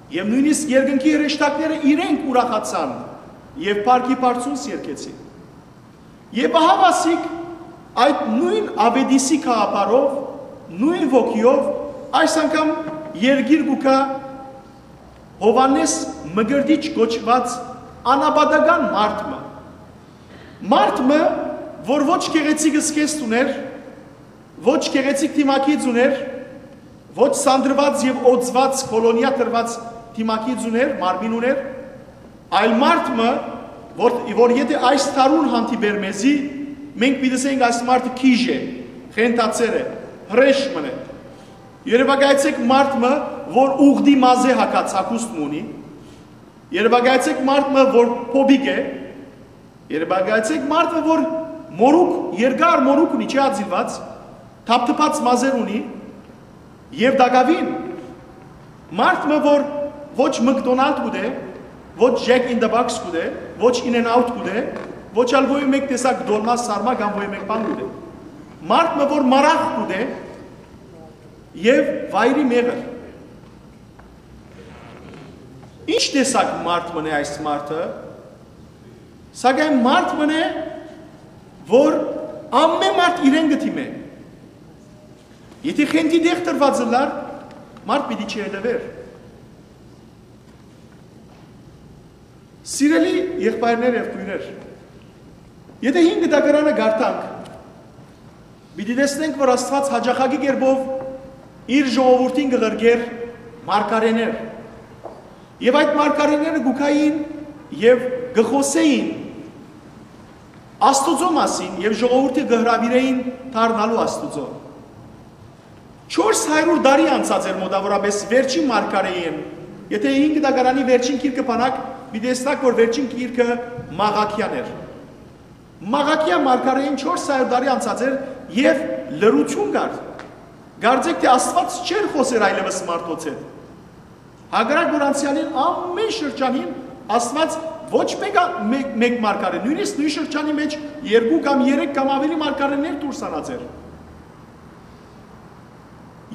եւ նոյնիսկ երկնքի հրեշտակները իրենք ուրախացան եւ փառքի բարձունս երգեցին։ Եւ ահա, ասիկ, այդ նոյն աւետիսի գաղափարով, նոյն ոգիով այս անգամ երկիր կու գայ Յովհաննէս Մկրտիչ կոչուած անապատական մարդ մը։ Մարդ մը, որ ոչ գեղեցիկ զգեստ ունէր, ոչ գեղեցիկ դիմագիծ ունէր, ոչ սանրուած եւ օծուած, քոլոնիա տրուած դիմագիծ ունէր, մարմին ունէր, այլ մարդ մը, որ, որ եթէ այս դարուն հանդիպէր մեզի, մենք պիտի ըսենք, այս մարդը քիժ է, խենթացեր է, հրեշ մըն է։ Երևակայեցեք մարդ մը, որ ուղդի մազէ հագած հագուստ մը ունի, երևակայեցեք մարդ մը, որ փոփիկ է, երևակայեցեք մարդ մը, որ մորուք, երկար մորուք ունի, չի ածիլված, թափթփած մազեր ունի, եւ տակաւին մարդ մը, որ ոչ McDonald կու դէ, ոչ Jack in the Box կու դէ, ոչ In-N-Out կու դէ, ոչ ալ ոյ մեկ տեսակ դոլմա, սարմա կամ ոյ մեկ բան կու դէ։ Մարդ մը, որ մարախ կու դէ եւ վայրի մեղր։ Ինչ տեսակ մարդ մըն է այս մարդը, սակայն մարդ մըն է, որ ամեն մարդ իրեն կը դիմէ։ Եթէ խենթի տեղ տրուած ըլլար, մարդ պիտի չհետեւէր։ Սիրելի եղբայրներ եւ քոյրեր, եթէ հին գտակարանը կարդանք, պիտի տեսնենք, որ Աստուած յաճախակի կերպով իր ժողովուրդին կը ղրկէր մարգարէներ։ Եւ այդ մարգարէները կու գային եւ կը խօսէին Աստուծոյ մասին եւ ժողովուրդը կը հրաւիրէին դառնալու Աստուծոյ։ Չորս հարիւր տարի անցած էր մօտաւորապէս վերջին մարգարէին։ Եթէ հին գտակարանի վերջին գիրքը բանաք, պիտի տեսնաք, որ վերջին գիրքը Մաղաքեան էր։ Մաղաքեա մարգարէին չորս հարիւր տարի անցած էր եւ լռութիւն կար։ Կարծէք թէ Աստուած չէր խօսեր այլեւս մարդոց հետ։ Հակառակ որ անցեալին ամէն շրջանին Աստուած ոչ մեկը, մէկ, մէկ մարգարէ, նոյնիսկ նոյն շրջանի մէջ երկու կամ երեք կամ աւելի մարգարէներ դուրս անած էր։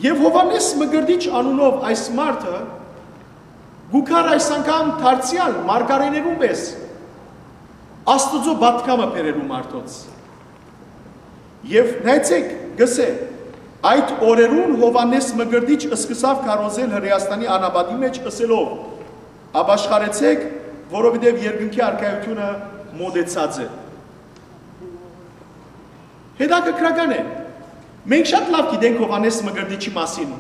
Եւ Յովհաննէս Մկրտիչ անունով այս մարդը գու գար այս անգամ դարձեալ մարգարէներուն պէս Աստուծոյ պատգամը բերելու մարդոց։ Եւ նայեցէք, կ'ըսէ. «Այդ օրերուն Յովհաննէս Մկրտիչ սկսաւ քարոզել Հրէաստանի անապատի մէջ, ըսելով. "Ապաշխարեցէք, որովհետեւ երկնքի արքայութիւնը մօտեցած է"»։ Հետաքրքրական է։ Մենք շատ լաւ գիտենք Յովհաննէս Մկրտիչի մասին։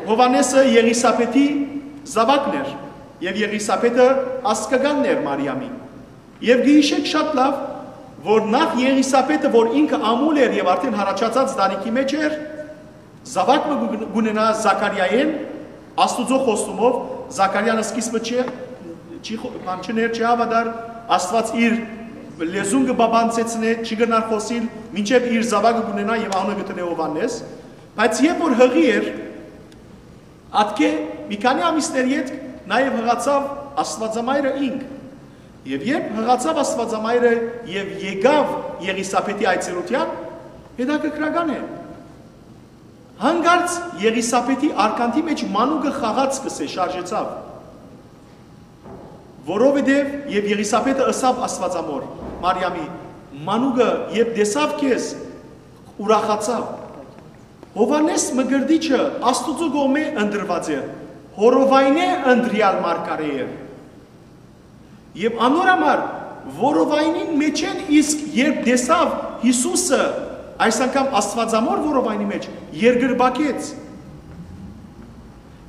Յովհաննէսը Եղիսաբեթի զաւակն էր եւ Եղիսաբեթը ազգականն էր Մարիամի։ Եւ կը յիշենք շատ լաւ, որ նախ Եղիսաբեթը, որ ինքը ամուլ էր եւ արդէն յառաջացած տարիքի մէջ էր, զաւակ մը կու-, կունենայ Զաքարիայէն, Աստուծոյ խոստումով, Զաքարիան սկիզբը չի, չի խո-, բան չներ, չի հաւատար, Աստուած իր լեզուն կը բաբանցեցնէ, չի կրնար խօսիլ, մինչեւ իր զաւակը կունենայ եւ անունը կը դնէ Յովհաննէս, բայց երբ որ յղի էր, ատկէ մի քանի ամիսներ ետք նաեւ յղացաւ Աստուածամայրը ինք։ Եւ երբ յղացաւ Աստուածամայրը եւ եկաւ Եղիսաբեթի այցելութեան, հետաքրքրական է։ Հանկարծ Եղիսաբեթի արկանդի մէջ մանուկը խաղաց, կ'ըսէ, շարժեցաւ, որովհետեւ, եւ Եղիսաբեթը ըսաւ Աստուածամոր Մարիամի. "Մանուկը երբ տեսաւ քեզ, ուրախացաւ"։ Յովհաննէս Մկրտիչը Աստուծոյ կողմէ ընտրուած էր, Հորովայնէ ընտրեալ մարգարէ էր։ Եւ անոր համար Հորովայնին մէջէն իսկ երբ տեսաւ Յիսուսը, այս անգամ Աստուածամոր Հորովայնի մէջ, երկրպագեց։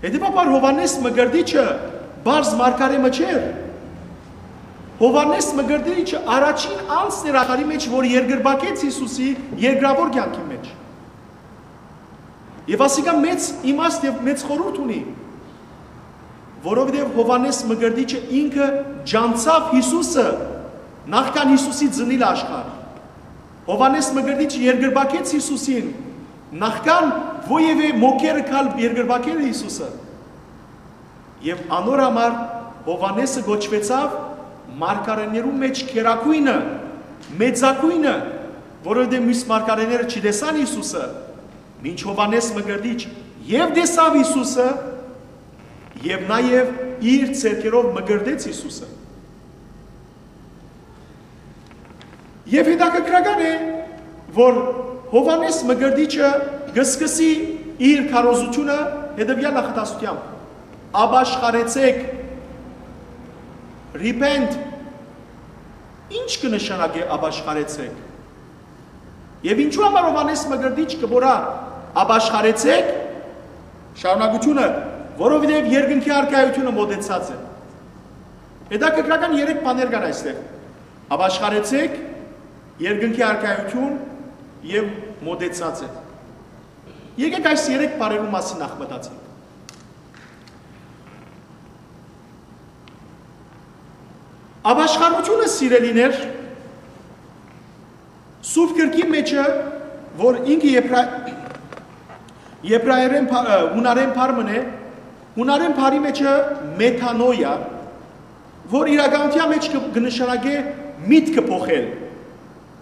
Հետեւաբար Յովհաննէս Մկրտիչը պարզ մարգարէ մը չէր։ Յովհաննէս Մկրտիչը առաջին անձն էր աշխարհի մէջ, որ երկրպագեց Յիսուսի երկրաւոր կեանքի մէջ։ Եւ ասիկա մեծ իմաստ եւ մեծ խորհուրդ ունի, որովհետեւ Յովհաննէս Մկրտիչը ինքը ճանչցաւ Յիսուսը, նախքան Յիսուսի ծնիլ աշխարհ։ Յովհաննէս Մկրտիչը երկրպագեց Յիսուսին, նախքան որեւէ մոգերը գալ երկրպագել Յիսուսը։ Եւ անոր համար Յովհաննէսը կոչուեցաւ մարգարէներուն մէջ գերագոյնը, մեծագոյնը, որովհետեւ միւս մարգարէները չտեսան Յիսուսը, մինչ Յովհաննէս Մկրտիչ եւ տեսաւ Յիսուսը, եւ նաեւ իր ձեռքերով մկրտեց Յիսուսը։ Եւ հետաքրքրական է, որ Յովհաննէս Մկրտիչը կը սկսի իր քարոզութիւնը հետեւեալ նախադասութեամբ. "Ապաշխարեցէք", repent։ Ի՞նչ կը նշանակէ "ապաշխարեցէք"։ Եւ ինչու համար Յովհաննէս Մկրտիչ կը մոռայ "ապաշխարեցէք", շարունակութիւնը, "որովհետեւ երկնքի արքայութիւնը մօտեցած է"։ Հետաքրքրական երեք բաներ կան այստեղ. "Ապաշխարեցէք", "երկնքի արքայութիւն" եւ "մօտեցած է"։ Եկեք այս երեք բառերու մասին նախ մտածենք։ Ապաշխարութիւնը, սիրելիներ, Սուրբ Գրքի մէջը, որ ինքը եբրա-, եբրայերէն բա-, ը, յունարէն բառ մըն է, յունարէն բառի մէջը մետանոյա, որ իրականութեան մէջ կը, կը նշանակէ միտքը փոխել։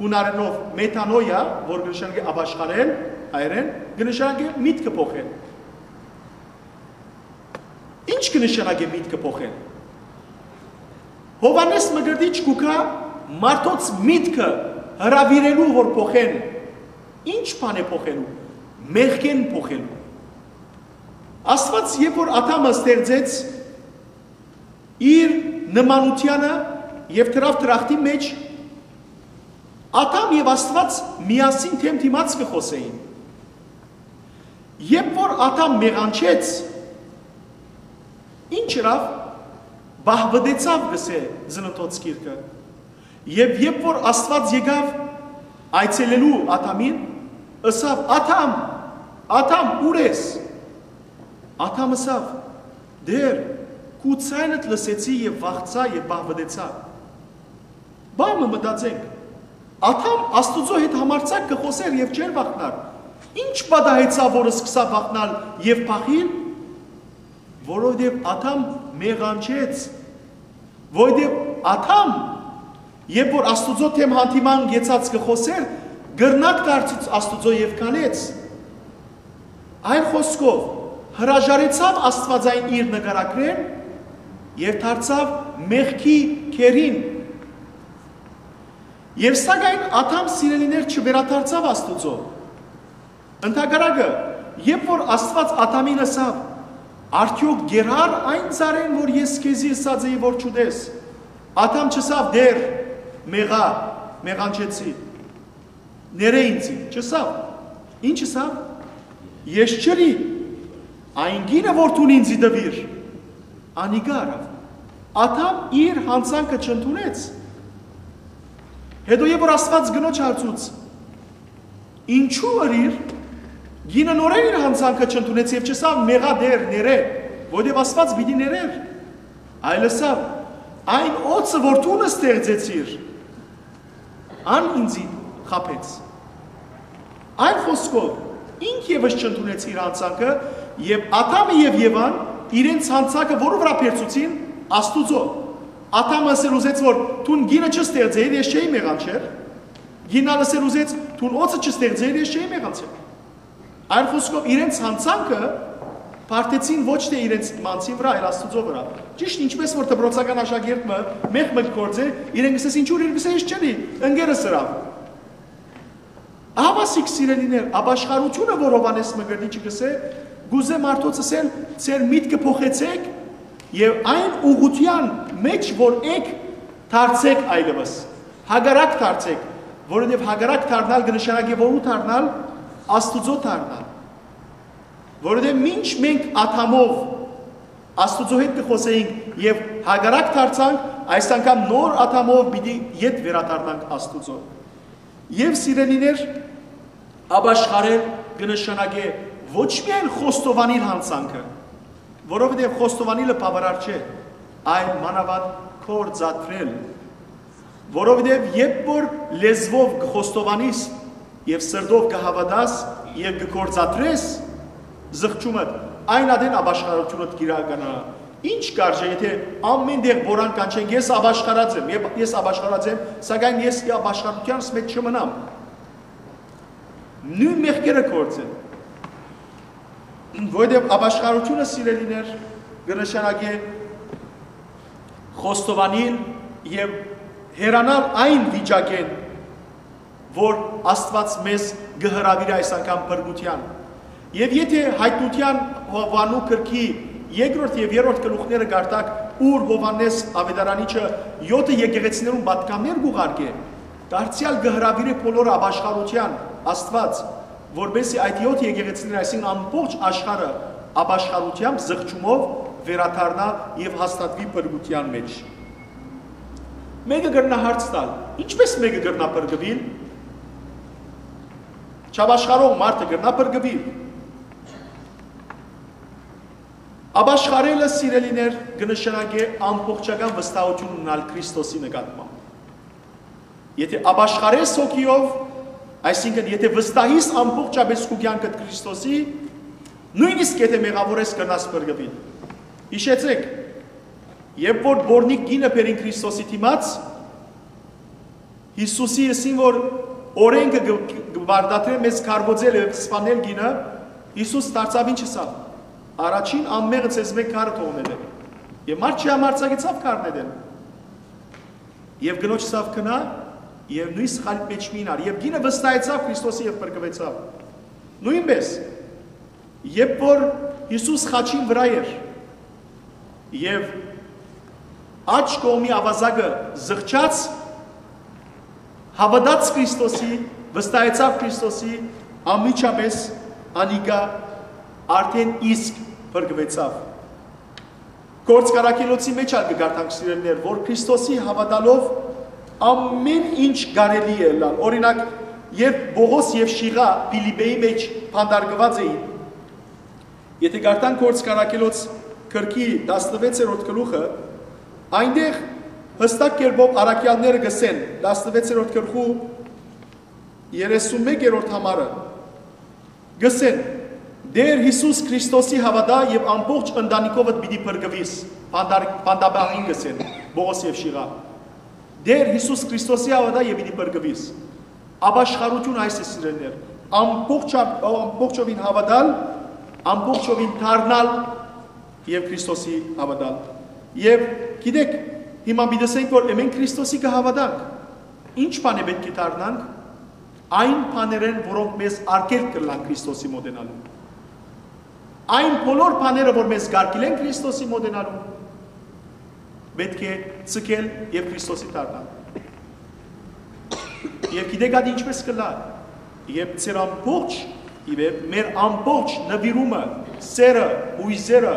Յունարէնով մետանոյա, որ կը նշանակէ ապաշխարել, հայերէն, կը նշանակէ միտքը փոխել։ Ի՞նչ կը նշանակէ միտքը փոխել։ Յովհաննէս Մկրտիչ կու գայ մարդոց միտքը հրաւիրելու, որ փոխեն։ Ի՞նչ բան է փոխելու։ Մեղքէն փոխելու։ Աստուած, երբ որ Ադամը ստեղծեց իր նմանութեանը եւ դրաւ դրախտի մէջ, Ադամ եւ Աստուած միասին դէմ դիմաց կը խօսէին։ Երբ որ Ադամ մեղանչեց, ի՞նչ ըրաւ, պահպտեցաւ, կ'ըսէ Ծննդոց գիրքը։ Եւ երբ որ Աստուած եկաւ այցելելու Ադամին, ըսաւ. "Ադամ, Ադամ, ո՞ւր ես"։ Ադամ ըսաւ. "Տէր, քու ձայնդ լսեցի եւ վախցայ եւ պահպտեցայ"։ Բան մը մտածենք. Ադամ Աստուծոյ հետ համարձակ կը խօսէր եւ չէր վախնար։ Ի՞նչ պատահեցաւ, որ սկսաւ վախնալ եւ փախիլ։ որովհետեւ Ադամ մեղանչեց, որովհետեւ Ադամ, երբ որ Աստուծոյ դէմ հանդիման գեցած կը խօսէր, կրնակ դարձուց Աստուծոյ եւ քալեց։ Այլ խօսքով, հրաժարեցաւ Աստուածային իր նկարագրէն եւ դարձաւ մեղքի գերին։ Եւ սակայն Ադամ, սիրելիներ, չվերադարձաւ Աստուծոյ։ Ընդհակառակը, երբ որ Աստուած Ադամին ըսաւ. «Արդեօք կ'երհար այն ծառէն, որ ես քեզի ըսած էի որ չուտես»։ Ադամ չըսաւ. «Տէր, մեղա, մեղանչեցի, ներէ ինծի»։ Չըսաւ։ Ինչ ըսաւ։ «Ես չըրի, այն կինը որ դուն ինծի տուիր, անիկա առաւ»։ Ադամ իր յանցանքը չընդունեց։ Հետո երբ որ Աստուած կնոջ հարցուց. «Ինչո՞ւ ըրիր»։ Կինը նորէն իր յանցանքը չընդունեց եւ չըսաւ. «Մեղա, Տէր, ներէ», որովհետեւ Աստուած պիտի ներէր, այլ ըսաւ. «Այն օծը որ դուն ստեղծեցիր, ան ինծի խաբեց»։ Այլ խօսքով, ինք եւս չընդունեց իր յանցանքը, եւ Ադամը եւ Եվան իրենց յանցանքը որու վրայ բերցուցին։ Աստուծոյ։ Ադամը ըսել ուզեց որ դուն կինը չստեղծէիր, ես չէի մեղանչեր։ Կինը ալ ըսել ուզեց. «Դուն օծը չստեղծէիր, ես չէի մեղանչեր»։ Այլ խօսքով, իրենց յանցանքը պարտեցին ոչ թե իրենց յանցին վրայ, այլ Աստուծոյ վրայ։ Ճիշդ ինչպէս որ դպրոցական աշակերտը մեղք մը կը գործէ, իրեն կ'ըսես. «Ինչու՞»։ Իրեն կ'ըսէ. «Ես չըրի, ընկերս ըրաւ»։ Ահա սիկ, սիրելիներ, ապաշխարութիւնը որ Յովհաննէս Մկրտիչը կ'ըսէ, կ'ուզէ մարդոց ըսել. «Ձեր միտքը փոխեցէք եւ այն ուղղութեան մէջ որ էք, դարձէք այլեւս, հակառակ դարձէք», որովհետեւ հակառակ դառնալ կը նշանակէ որո՞ւ դառնալ։ Աստուծոյ դառնալ։ Որովհետեւ մինչ մենք Ադամով Աստուծոյ հետ կը խօսէինք եւ հակառակ դարձանք, այս անգամ նոր Ադամով պիտի ետ վերադառնանք Աստուծոյ։ Եւ, սիրելիներ, ապաշխարել կը նշանակէ ոչ միայն խոստովանիլ յանցանքը, որովհետեւ խոստովանիլը բաւարար չէ, այլ մանաւանդ գործադրել։ Որովհետեւ երբ որ լեզուով կը խոստովանիս եւ սրտով կը հաւատաս եւ կը գործադրես զղջումդ, այն ատեն ապաշխարութիւնդ կիրականանայ։ Ի՞նչ կարժէ, եթէ ամէն տեղ բորան կանչենք. «Ես ապաշխարած եմ, ե-, ես ապաշխարած եմ, սակայն ես ապաշխարութեանս մէջ չմնամ»։ Նոյն մեղքերը գործեն։ Որովհետեւ ապաշխարութիւնը, սիրելիներ, կը նշանակէ խոստովանիլ եւ հեռանալ այն վիճակէն, որ Աստուած մեզ կը հրաւիրէ այս անգամ փրկութեան։ Եւ եթէ Յայտնութեան Յովհաննու գրքի երկրորդ եւ երրորդ գլուխները կարդաք, ուր Յովհաննէս Աւետարանիչը եօթը եկեղեցիներուն պատգամներ կ'ուղարկէ, դարձեալ կը հրաւիրէ բոլորը ապաշխարութեան Աստուած, որպեսզի այդ եօթ եկեղեցիները, այսինքն ամբողջ աշխարհը, ապաշխարութեամբ, զղջումով վերադառնայ եւ հաստատուի փրկութեան մէջ։ Մէկը կրնայ հարց տալ. ինչպէս մէկը կրնայ փրկուիլ։ Չապաշխարող մարդը կրնայ փրկուիլ։ Ապաշխարելը, սիրելիներ, կը նշանակէ ամբողջական վստահութիւն ունենալ Քրիստոսի նկատմամբ։ Եթէ ապաշխարես հոգիով, այսինքն եթէ վստահիս ամբողջապէս քու կեանքդ Քրիստոսի, նոյնիսկ եթէ մեղաւոր ես, կրնաս փրկուիլ։ Յիշեցէք, երբ որ պոռնիկ կինը բերին Քրիստոսի դիմաց, Յիսուսի ըսին որ օրէնքը կը, կը պարտադրէ մեզ քարոզել եւ սպանել կինը, Յիսուս դարձաւ ինչ ըսաւ. «Առաջին անմեղը ձեզմէ քարը թող նետէ»։ Եւ մարդ չհամարձակեցաւ քար նետել։ Եւ կնոջ ըսաւ. «Գնա եւ նոյն սխալիդ մէջ մի մնար»։ Եւ կինը վստահեցաւ Քրիստոսի եւ փրկուեցաւ։ Նոյնպէս, երբ որ Յիսուս խաչին վրայ էր եւ աջ կողմի աւազակը զղջաց, հաւատաց Քրիստոսի, վստահեցաւ Քրիստոսի, անմիջապէս անիկա արդէն իսկ փրկուեցաւ։ Գործք Առաքելոցի մէջ ալ կը կարդանք, սիրելիներ, որ Քրիստոսի հաւատալով ամէն ինչ կարելի է ըլլալ։ Օրինակ, երբ Պողոս եւ Շիղա Փիլիպպեի մէջ բանտարկուած էին, եթէ կարդանք Գործք Առաքելոց գրքի տասնվեցերորդ գլուխը, այնտեղ յստակ կերպով առաքեալները կ'ըսեն, տասնվեցերորդ գլխու երեսունմեկերորդ համարը, կ'ըսեն. Տէր Յիսուս Քրիստոսի հաւատա եւ ամբողջ ընտանիքովդ պիտի փրկուիս, բանտար-, բանտաբանին կ'ըսեն Պողոս եւ Շիղա։ Տէր Յիսուս Քրիստոսի հաւատա եւ պիտի փրկուիս։ Ապաշխարութիւն այս է, սիրելիներ, ամբողջ-, ամբողջովին հաւատալ, ամբողջովին դառնալ եւ Քրիստոսի հաւատալ։ Եւ գիտեք, հիմա պիտի ասենք, որ մենք Քրիստոսի կը հաւատանք, ինչ բան է պէտք է դառնանք, այն բաներէն, որոնք մեզ արգելք կ'ըլլան Քրիստոսի մօտենալու։ Այն բոլոր բաները, որ մեզ կ'արգիլեն Քրիստոսի մօտենալու, պէտք է ձգել եւ Քրիստոսի դառնալ։ Եւ գիտեք, ատի ինչպես կ'ըլլայ, երբ ձեր ամբողջ, ի վեր, մեր ամբողջ նուիրումը, սերը, յոյզերը,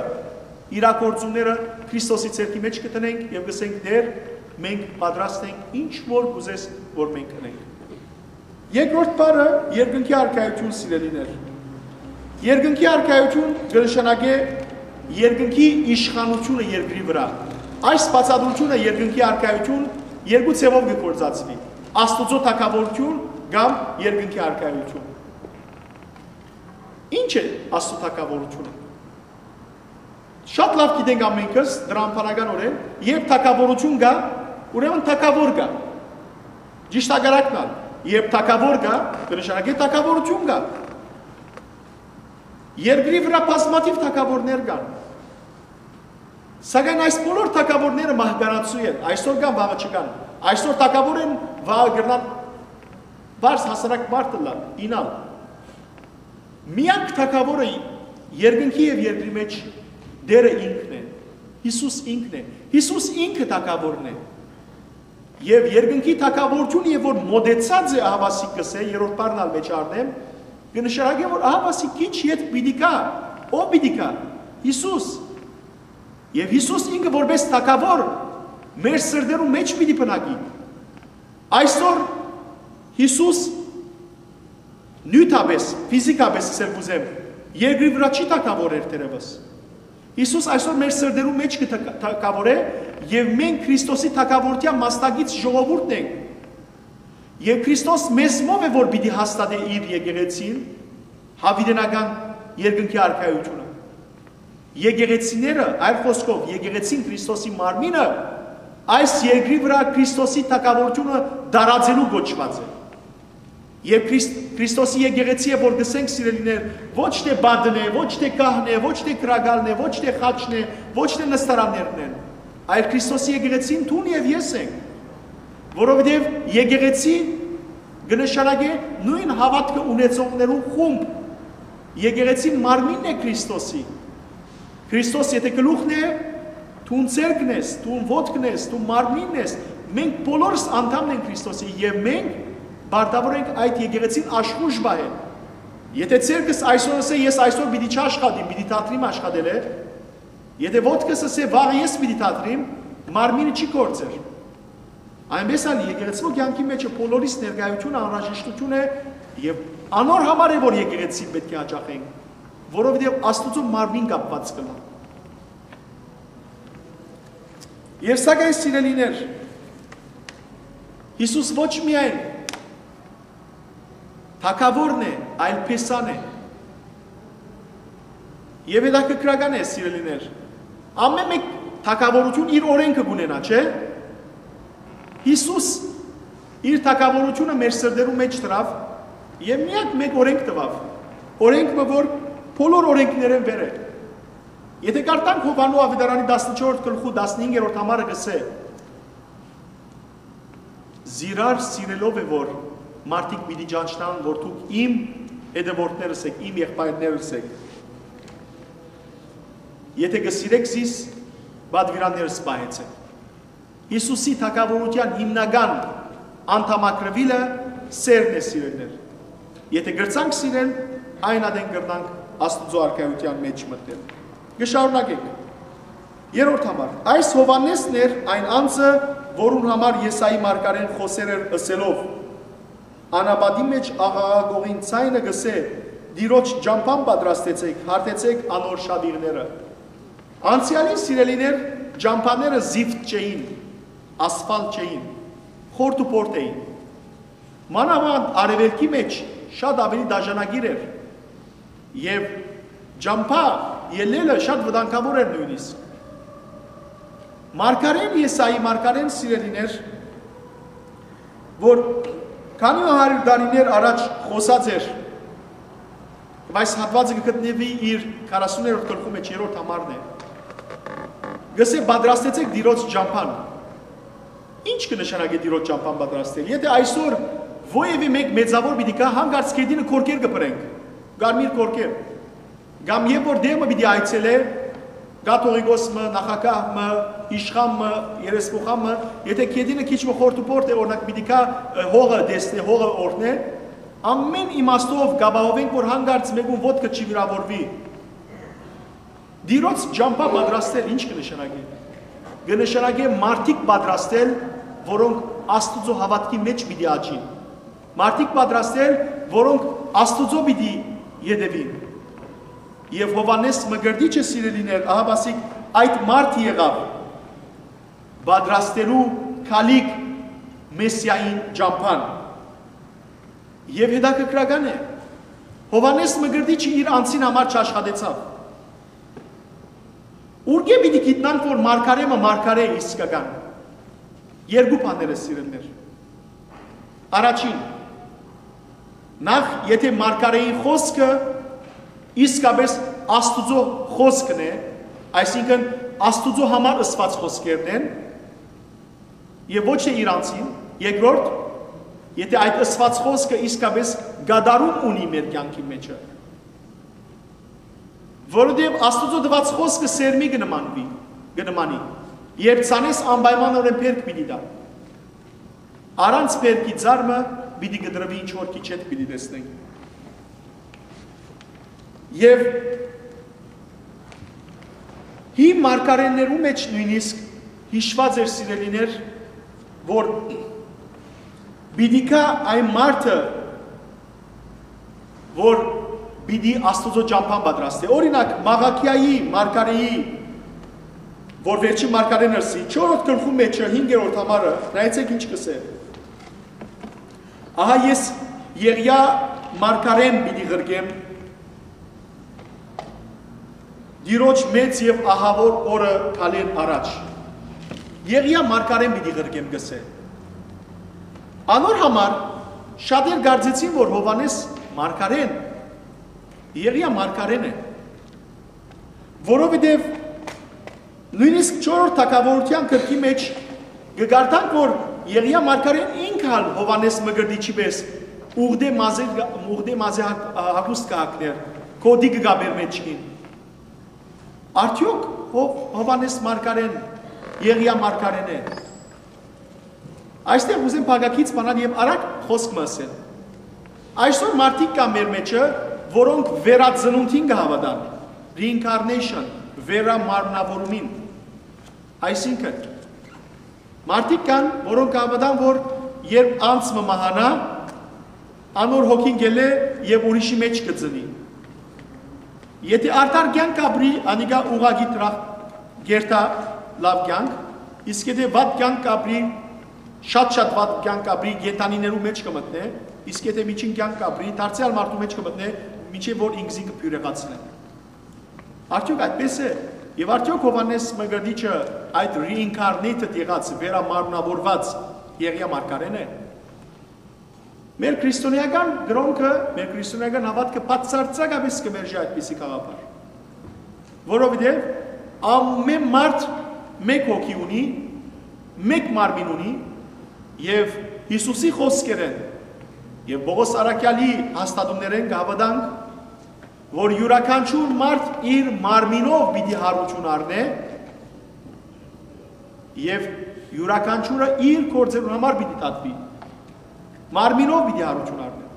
իրագործումները Քրիստոսի ձեռքի մէջ կը դնենք եւ կ'ըսենք. «Տէր, մենք պատրաստ ենք, ինչ որ կ'ուզես, որ մենք ընենք»։ Երկրորդ բառը՝ երկնքի արքայութիւն, սիրելիներ։ Երկնքի արքայութիւն կը նշանակէ երկնքի իշխանութիւնը երկրի վրայ։ Այս բացատրութիւնը, երկնքի արքայութիւն, երկու ձեւով կը գործածուի. Աստուծոյ թագաւորութիւն կամ երկնքի արքայութիւն։ Ի՞նչ է Աստուծոյ թագաւորութիւնը։ Շատ լաւ գիտենք ամենքս դրամաբանական օրէն, երբ թագաւորութիւն կայ, ուրեմն թագաւոր կայ։ Ճիշտ հակառակն ալ, երբ թագաւոր կայ, կը նշանակէ թագաւորութիւն կայ։ Երկրի վրայ բազմաթիւ թագաւորներ կան։ Սակայն այս բոլոր թագաւորները մահկանացու են, այսօր կան, վաղը չկան։ Այսօր թագաւոր են, վաղը կրնան բարձ հասարակ մարդ ըլլան, իյնալ։ Միակ թագաւորը երկնքի եւ երկրի մէջ Տէրը ինքն է, Յիսուս ինքն է, Յիսուս ինքը թագաւորն է։ Եւ երկնքի թագաւորութիւնը, երբ որ մօտեցած է, ահաւասիկ կ'ըսէ, երրորդ բառն ալ մէջ առնեմ, կը նշանակէ, որ ահաւասիկ քիչ յետ պիտի գայ, ո՞վ պիտի գայ, Յիսուս։ Եւ Յիսուս ինքը որպէս թագաւոր մեր սրտերու մէջ պիտի բնակի։ Այսօր Յիսուս նիւթապէս, ֆիզիքապէս, ասել կ'ուզեմ, երկրի վրայ չի թագաւորեր թերեւս։ Յիսուս այսօր մեր սրտերու մէջ կը թագ-, թագաւորէ, եւ մենք Քրիստոսի թագաւորութեան մասնակից ժողովուրդն ենք։ Եւ Քրիստոս մեզմով է, որ պիտի հաստատէ իր եկեղեցին, յաւիտենական երկնքի արքայութիւնը։ Եկեղեցիները, այլ խօսքով, եկեղեցին, Քրիստոսի մարմինը, այս երկրի վրայ Քրիստոսի թագաւորութիւնը տարածելու կոչուած է։ Եւ Քրիստ-, Քրիստոսի եկեղեցի է, որ կ'ըսենք, սիրելիներ, ոչ թէ պատն է, ոչ թէ գահն է, ոչ թէ կրակալն է, ոչ թէ խաչն է, ոչ թէ նստարաններն են, այլ Քրիստոսի եկեղեցին դուն եւ ես ենք, որովհետեւ եկեղեցի կը նշանակէ նոյն հաւատքը ունեցողներու խումբ։ Եկեղեցին մարմինն է Քրիստոսի։ Քրիստոս եթէ գլուխն է, դուն ձեռքն ես, դուն ոտքն ես, դու մարմինն ես, մենք բոլորս անդամն ենք Քրիստոսի եւ մենք պարտավոր ենք այդ եկեղեցին աշխոյժ պահել։ Եթէ ձեռքս այսօր ըսէ, «Ես այսօր պիտի չաշխատիմ, պիտի դադրիմ աշխատելէ», եթէ ոտքս ըսէ, «Վաղը ես պիտի դադրիմ», մարմինը չի գործեր։ Այնպես ալ եկեղեցւոյ կեանքի մէջ բոլորիս ներկայութիւնը անհրաժեշտութիւն է եւ անոր համար է, որ եկեղեցին պէտք է յաճախենք, որովհետեւ Աստուծոյ մարմին կապուած կ'ըլլայ։ Եւ սակայն, սիրելիներ, Յիսուս ոչ միայն թագաւորն է, այլ փեսան է։ Եւ հետաքրքրական է, սիրելիներ, ամէն մէկ թագաւորութիւն իր օրէնքը կ'ունենայ, չէ՞։ Յիսուս իր թագաւորութիւնը մեր սրտերու մէջ դրաւ եւ միակ մէկ օրէնք տուաւ, օրէնք մը, որ բոլոր օրէնքներէն վեր է։ Եթէ կարդանք Յովհաննու աւետարանի տասնչորսերորդ գլխու տասնհինգերորդ համարը, կ'ըսէ. «Զիրար սիրելով է, որ մարդիկ պիտի ճանչնան, որ դուք իմ հետեւորդներս էք, իմ եղբայրներս էք։ Եթէ կը սիրէք զիս, պատուիրաններս պահեցէք»։ Յիսուսի թագաւորութեան հիմնական անդամակրուիլը սերն է, սիրելիներ։ Եթէ կրցանք սիրել, այն ատեն կրնանք Աստուծոյ արքայութեան մէջ մտնել։ Կը շարունակենք։ Երրորդ համար։ Այս Յովհաննէսն էր այն անձը, որուն համար Եսայի մարգարէն խօսեր էր, ըսելով. «Անապատի մէջ աղաղակողին ձայնը կ'ըսէ. Տիրոջ ճամբան պատրաստեցէք, հարթեցէք անոր շաւիղները»։ Անցեալին, սիրելիներ, ճամբաները զիֆտ չէին, ասֆալտ չէին, խորթ ու փորթ էին։ Մանաւանդ արեւելքի մէջ շատ աւելի դաժանագիր էր եւ Ճամբայ ելլելը շատ վտանգաւոր էր նոյնիսկ։ Մարգարէն Եսայի, մարգարէն, սիրելիներ, որ քանի հարիւր տարիներ առաջ խօսած էր, բայց հատուածը կը գտնուի իր քառասուներորդ գլխու մէջ, երրորդ համարն է, կ'ըսէ. «Պատրաստեցէք Տիրոջ ճամբան»։ Ի՞նչ կը նշանակէ Տիրոջ ճամբան պատրաստել։ Եթէ այսօր որեւէ մէկ մեծաւոր պիտի գայ, հանկարծ գետինը կորկեր կը բրենք, կարմիր կորկեր, կամ երբ որ տեղ մը պիտի այցելէ, կաթողիկոս մը, նախագահ մը, իշխան մը, երեսփոխան մը, եթէ գետինը քիչ մը խորտուբորտ է, օրինակ, պիտի գայ, ը, հողը տեսնէ, հողը օրհնէ, ամէն իմաստով կ'ապահովենք, որ հանկարծ մէկուն ոտքը չի վիրաւորուի։ Տիրոջ ճամբայ պատրաստել ի՞նչ կը նշանակէ։ Կը նշանակէ մարդիկ պատրաստել, որոնք Աստուծոյ հաւատքի մէջ պիտի աճին, մարդիկ պատրաստել, որոնք Աստուծոյ պիտի յետեւին։ Եւ Յովհաննէս Մկրտիչը, սիրելիներ, ահա, ասիկ, այդ մարդը եղաւ պատրաստելու գալիք Մեսիային ճամբան։ Եւ հետաքրքրական է, Յովհաննէս Մկրտիչը իր անձին համար չաշխատեցաւ։ Ուրկէ՞ պիտի գիտնանք, որ մարգարէ մը մարգարէ է իսկական։ Երկու բաներ է, սիրելիներ։ Առաջին, նախ, եթէ մարգարէին խօսքը իսկապես Աստուծոյ խօսքն է, այսինքն, Աստուծոյ համար ըսուած խօսքերն են, եւ ոչ թէ իր անձին, երկրորդ, եթէ այդ ըսուած խօսքը իսկապես կատարում ունի մեր կեանքի մէջը, որովհետեւ Աստուծոյ տուած խօսքը սերմի կը նմանուի, կը նմանի, երբ ցանես, անպայմանօրէն բերք պիտի տայ։ Առանց բերքի ծառ մը պիտի կտրուի, ինչ որ քիչ հետ պիտի տեսնենք։ Եւ հին մարգարէներու մէջ նոյնիսկ յիշուած էր, սիրելիներ, որ պիտի գայ այն մարդը, որ պիտի Աստուծոյ ճամբան պատրաստէ։ Օրինակ, Մաղաքիայի մարգարէի, որ վերջին մարգարէն ըսի, չորրորդ գլխու մէջը, հինգերորդ համարը, նայեցէք ինչ կ'ըսէ. «Ահա ես Եղիա մարգարէն պիտի ղրկեմ Տիրոջ մեծ եւ ահաւոր օրը գալէն առաջ»։ Եղիա մարգարէն պիտի ղրկեմ, կ'ըսէ։ Անոր համար շատեր կարծեցին, որ Յովհաննէս մարգարէն Եղիա մարգարէն է, որովհետեւ նոյնիսկ չորրորդ թագաւորութեան գրքի մէջ կը կարդանք, որ Եղիա մարգարէն ինքը ալ Յովհաննէս Մկրտիչի պէս ուղտէ մազէ, ուղտէ մազէ հագ-, հագուստ կը հագնէր, գօտի կը կապէր մէջքին։ Արդեօք Հով-, Յովհաննէս մարգարէն Եղիա մարգարէն է։ Այստեղ ուզեմ փակագիծ բանալ եւ արագ խօսք մը ըսել։ Այսօր մարդիկ կան մեր մէջը, որոնք վերածնունդին կը հաւատան, reincarnation, վերամարմնավորումին։ Այսինքն, մարդիկ կան, որոնք կը հաւատան, որ երբ անձ մը մահանայ, անոր հոգին գելէ եւ ուրիշի մէջ կը ծնի։ Եթէ արդար կեանք ապրի, անիկա ուղղակի դրախ կերթայ լաւ կեանք, իսկ եթէ վատ կեանք ապրի, շատ-շատ վատ կեանք ապրի, կենդանիներու մէջ կը մտնէ, իսկ եթէ միջին կեանք ապրի, դարձեալ մարդու մէջ կը մտնէ, մինչեւ որ ինքզին կը բիւրեղացնէ։ Արդեօք այդպէս է։ Եւ արդեօք Յովհաննէս Մկրտիչը այդ reincarnated եղած, վերամարմնավորուած Եղիա մարգարէն է։ Մեր քրիստոնեական կրօնքը, մեր քրիստոնեական հաւատքը բացարձակապէս կը մերժի այդպիսի գաղափար, որովհետեւ ամէն մարդ մէկ հոգի ունի, մէկ մարմին ունի, եւ Յիսուսի խօսքերէն եւ Պողոս առաքեալի հաստատումներէն կը հաւատանք, որ իւրաքանչիւր մարդ իր մարմինով պիտի յարութիւն առնէ եւ իւրաքանչիւրը իր գործերուն համար պիտի դատուի, մարմինով պիտի յարութիւն առնէ։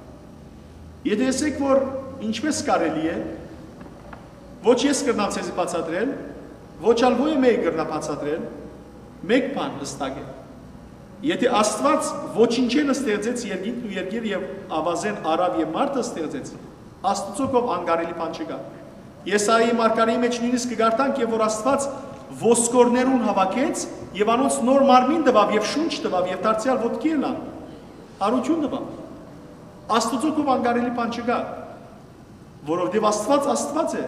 Եթէ տեսեք, որ ինչպէս կարելի է, ոչ ես կրնամ ձեզի բացատրել, ոչ ալ ոյ մէկը կրնայ բացատրել, մէկ բան հստակ է. եթէ Աստուած ոչինչէն ստեղծեց երկինքն ու երկիրը եւ աւազէն առաւ եւ մարդը ստեղծեց, Աստուծոյ քով անկարելի բան չկայ։ Եսայի մարգարէի մէջ նոյնիսկ կը կարդանք, եւ որ Աստուած ոսկորներուն հաւաքեց եւ անոնց նոր մարմին տուաւ եւ շունչ տուաւ եւ դարձեալ ոտքի ելան, յարութիւն տուաւ։ Աստուծոյ քով անկարելի բան չկայ, որովհետեւ Աստուած Աստուած է,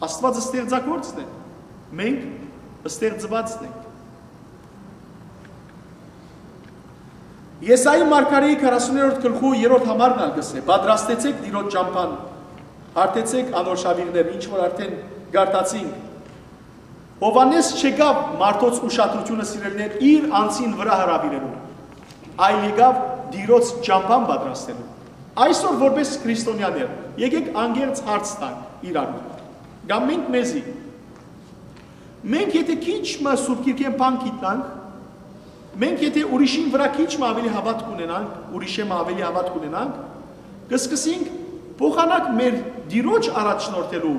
Աստուած ստեղծագործն է, մենք ստեղծուածն ենք։ Եսայի մարգարեի քառասուներորդ գլխու երրորդ համարն ալ կ'ըսէ. «Պատրաստեցէք Տիրոջ ճամբան, հարթեցէք անոր շաւիղները», ինչ որ արդեն կարդացինք։ Յովհաննէս չեկաւ մարդոց ուշադրութիւնը, սիրելիներ, իր անձին վրայ հրաւիրելու, այլ եկաւ Տիրոջ ճամբան պատրաստելու։ Այսօր, որպէս քրիստոնեաներ, եկեք անկեղծ հարց տանք իրարու, կամ մենք մեզի։ Մենք եթէ քիչ մը Սուրբ Գիրքէն բան գիտնանք, մենք եթէ ուրիշին վրայ քիչ մը աւելի հաւատք ունենանք, ուրիշէ մը աւելի հաւատք ունենանք, կսկսենք փոխանակ մեր Տիրոջ առաջնորդելու,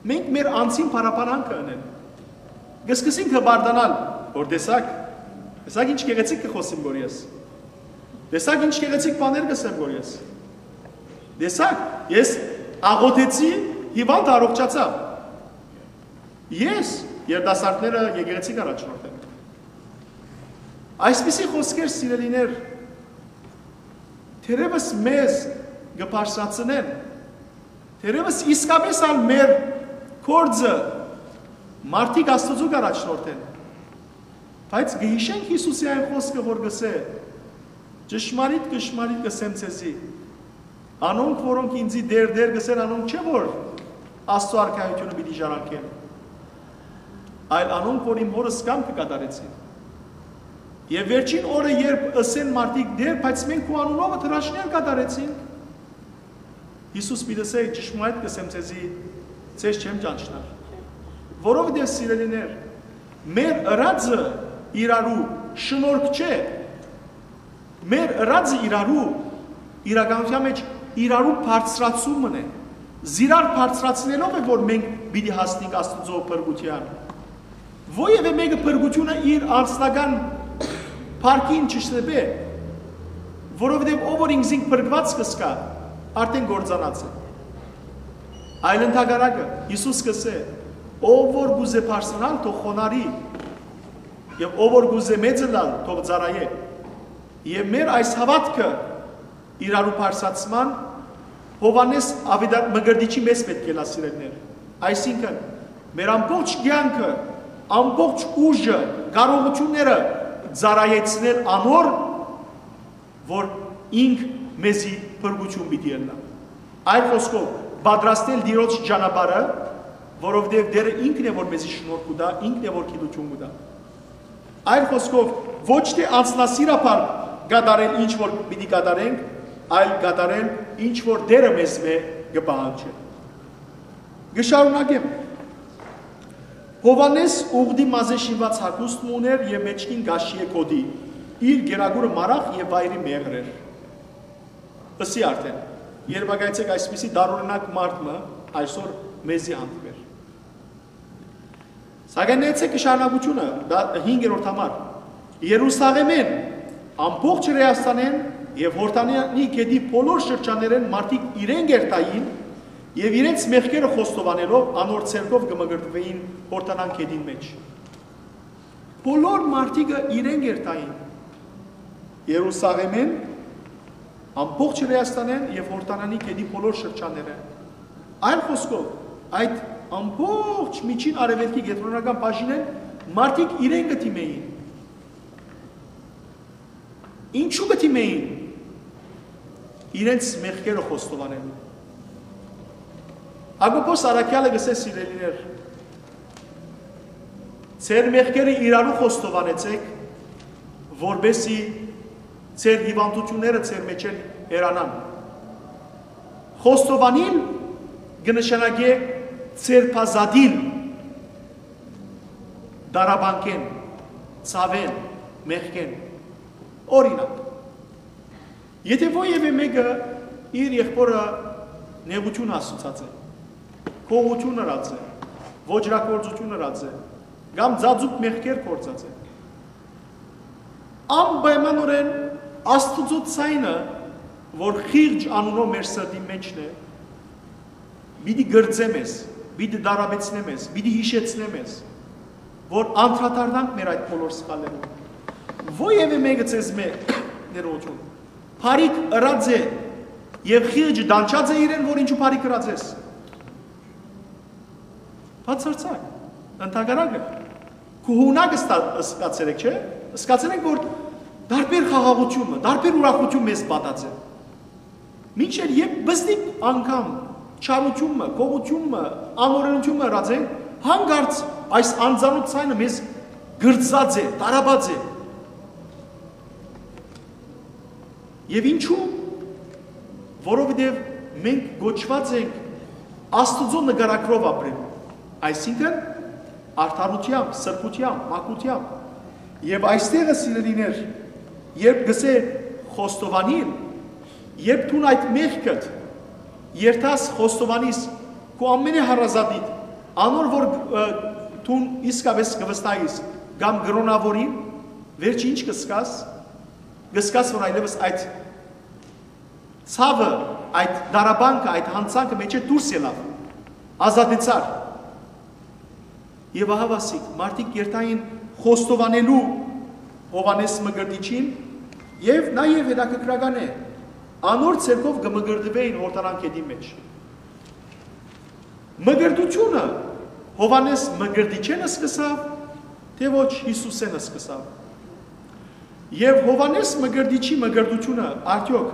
մենք մեր անձին փառապանանքը ընել։ Կսկսենք հպարտանալ, որ տեսակ, տեսակ ինչ գեղեցիկ կը խօսեմ որ ես, տեսակ ինչ գեղեցիկ բաներ կ'ըսեմ որ ես, տեսակ, ես աղոթեցի, հիվանդ առողջացաւ։ Ես երիտասարդները եկեղեցի կ'առաջնորդեմ։ Այսպիսի խօսքեր, սիրելիներ, թերեւս մեզ կը բարձրացնեն, թերեւս իսկապէս ալ մեր գործը մարդիկ Աստուծոյ կ'առաջնորդեն, բայց կը յիշենք Յիսուսի այն խօսքը, որ կ'ըսէ. «Ճշմարիտ, ճշմարիտ կ'ըսեմ ձեզի, անոնք, որոնք ինծի "Տէր, Տէր" կ'ըսեն, անոնք չէ՞ որ Աստուծոյ արքայութիւնը պիտի ժառանգեն, այլ անոնք, որ իմ Հօրս կամքը կատարեցին»։ Եւ վերջին օրը, երբ ըսեն մարդիկ. «Տէր, բայց մենք քու անունովդ հրաշքներ կատարեցինք», Յիսուս պիտի ըսէ. «Ճշմարիտ կ'ըսեմ ձեզի, ձեզ չեմ ճանչնար»։ Որովհետեւ, սիրելիներ, մեր ըրածը իրարու շնորհք չէ, մեր ըրածը իրարու, իրականութեան մէջ իրարու բարձրացումն է, զիրար բարձրացնելով է, որ մենք պիտի հասնենք Աստուծոյ փրկութեան։ Ոեւէ մէկը փրկութիւնը իր անձնական փառքին չշտպէ, որովհետեւ ով որ ինքզինք փրկուած կ'ըսկայ, արդեն կործանած է։ Այլ ընդհակառակը, Յիսուս կ'ըսէ. «Ով որ կ'ուզէ բարձրանալ, թող խոնարհի, եւ ով որ կ'ուզէ մեծ ըլլալ, թող ծառայէ»։ Եւ մեր այս հաւատքը իրարու բարձրացման Յովհաննէս Աւետար-, Մկրտիչի մեզ պէտք է լա, սիրելիներ։ Այսինքն, մեր ամբողջ կեանքը, ամբողջ ուժը, կարողութիւնները ծառայեցնել անոր, որ ինք մեզի փրկութիւն պիտի ըլլայ։ Այլ խօսքով, պատրաստել Տիրոջ ճանապարհը, որովհետեւ Տէրը ինքն է, որ մեզի շնորհք կու տայ, ինքն է, որ գիտութիւն կու տայ։ Այլ խօսքով, ոչ թէ անձնասիրաբար կատարել ինչ որ պիտի կատարենք, այլ կատարել ինչ որ Տէրը մեզմէ կը պահանջէ։ Կը շարունակեմ։ Յովհաննէս ուղտի մազէ շինուած հագուստ մը ունէր եւ մէջքին կաշիէ գօտի, իր կերակուրը մարաղ եւ վայրի մեղր էր։ Ըսի արդէն, երբակայեցէք, այսպիսի տարօրինակ մարդ մը այսօր մեզի հանդիպեր։ Սակայն նայեցէք շարունակութիւնը, դա հինգերորդ համար։ Երուսաղէմէն, ամբողջ Հրեաստանէն եւ Յորդանանի գետի բոլոր շրջաններէն մարդիկ իրեն կ'երթային եւ իրենց մեղքերը խոստովանելով անոր ձեռքով կը մկրտուէին Յորդանան գետին մէջ։ Բոլոր մարդիկը իրեն կ'երթային Երուսաղէմէն, ամբողջ Հրեաստանէն եւ Յորդանանի գետի բոլոր շրջաններէն։ Այլ խօսքով, այդ ամբողջ Միջին Արեւելքի կեդրոնական բաժինէն մարդիկ իրեն կը դիմէին։ Ինչու կը դիմէին? Իրենց մեղքերը խոստովանելու։ Յակոբոս առաքեալը կ'ըսէ, սիրելիներ, ձեր մեղքերը իրարու խոստովանեցէք, որպեսզի ձեր հիվանդութիւնները ձեր մէջէն հեռանան։ Խոստովանիլ կը նշանակէ ձերբազատիլ տառապանքէն, ցաւէն, մեղքէն։ Օրինակ, եթէ որեւէ մէկը իր եղբօրը նեղութիւն հասցուցած է, գողութիւն ըրած է, ոճրագործութիւն ըրած է, կամ ծածուկ մեղքեր գործած է, անպայմանօրէն Աստուծոյ ձայնը, որ խիղճ անունով մեր սրտին մէջն է, պիտի կրծէ մեզ, պիտի տառապեցնէ մեզ, պիտի յիշեցնէ մեզ, որ անդրադառնանք մեր այդ բոլոր սխալներուն։ Որեւէ մէկը ձեզմէ, ներողություն, բարիք ըրած է եւ խիղճը տանջած է իրեն, որ ինչու բարիք ըրած ես։ Բացարձակ, ընդհակառակը, քու յունակ ըսկացեր եք, չէ՞, ըսկացեր եք, որ տարբեր խաղաղութիւնը, տարբեր ուրախութիւն մեզ պատած է։ Մինչդեռ երբ բզնիկ անգամ չարութիւնը, գողութիւնը, անօրենութիւնը ըրած է, հանկարծ այս անծանօթ ձայնը մեզ կրծած է, տարապած է։ Եւ ինչու՞, որովհետեւ մենք կոչուած ենք Աստուծոյ նկարագրով ապրելու, այսինքն արդարութեամբ, սրբութեամբ, մաքրութեամբ։ Եւ այստեղը, սիրելիներ, երբ գսէ խոստովանիլ, երբ դուն այդ մեղքդ երթաս, խոստովանիս քու ամենէ հարազատիդ, անոր որ, ը, դուն իսկապէս կը վստահիս կամ կրոնաւորին, վերջը ինչ կսկաս, կսկաս, որ այլեւս այդ ցաւը, այդ դարաբանքը, այդ յանցանքը մէջէ դուրս ելաւ, ազատեցար։ Եւ ահա, ասիկ, մարդիկ երթային խոստովանելու Յովհաննէս Մկրտիչին, եւ նաեւ հետաքրքրական է, անոր ձեռքով կը մկրտուէին Յորդանան գետին մէջ։ Մկրտութիւնը Յովհաննէս Մկրտիչէն սկսաւ, թէ ոչ Յիսուսէն սկսաւ։ Եւ Յովհաննէս Մկրտիչի մկրտութիւնը արդեօք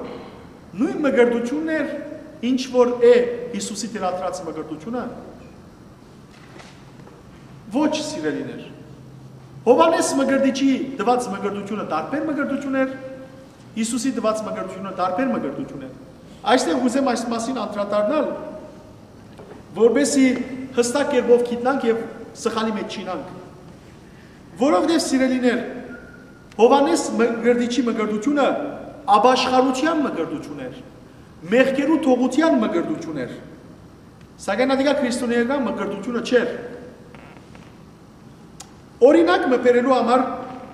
նոյն մկրտութիւնն էր, ինչ որ է Յիսուսի թելադրած մկրտութիւնը։ Ոչ, սիրելիներ։ Յովհաննէս Մկրտիչի տուած մկրտութիւնը տարբեր մկրտութիւն էր, Յիսուսի տուած մկրտութիւնը տարբեր մկրտութիւն էր։ Այստեղ ուզեմ այս մասին անդրադառնալ, որպեսզի յստակ կերպով գիտնանք եւ սխալի մէջ չիյնանք։ Որովհետեւ, սիրելիներ, Յովհաննէս Մկրտիչի մկրտութիւնը ապաշխարութեան մկրտութիւն էր, մեղքերու թողութեան մկրտութիւն էր, սակայն ատիկա քրիստոնէական մկրտութիւնը չէր։ Օրինակ մը բերելու համար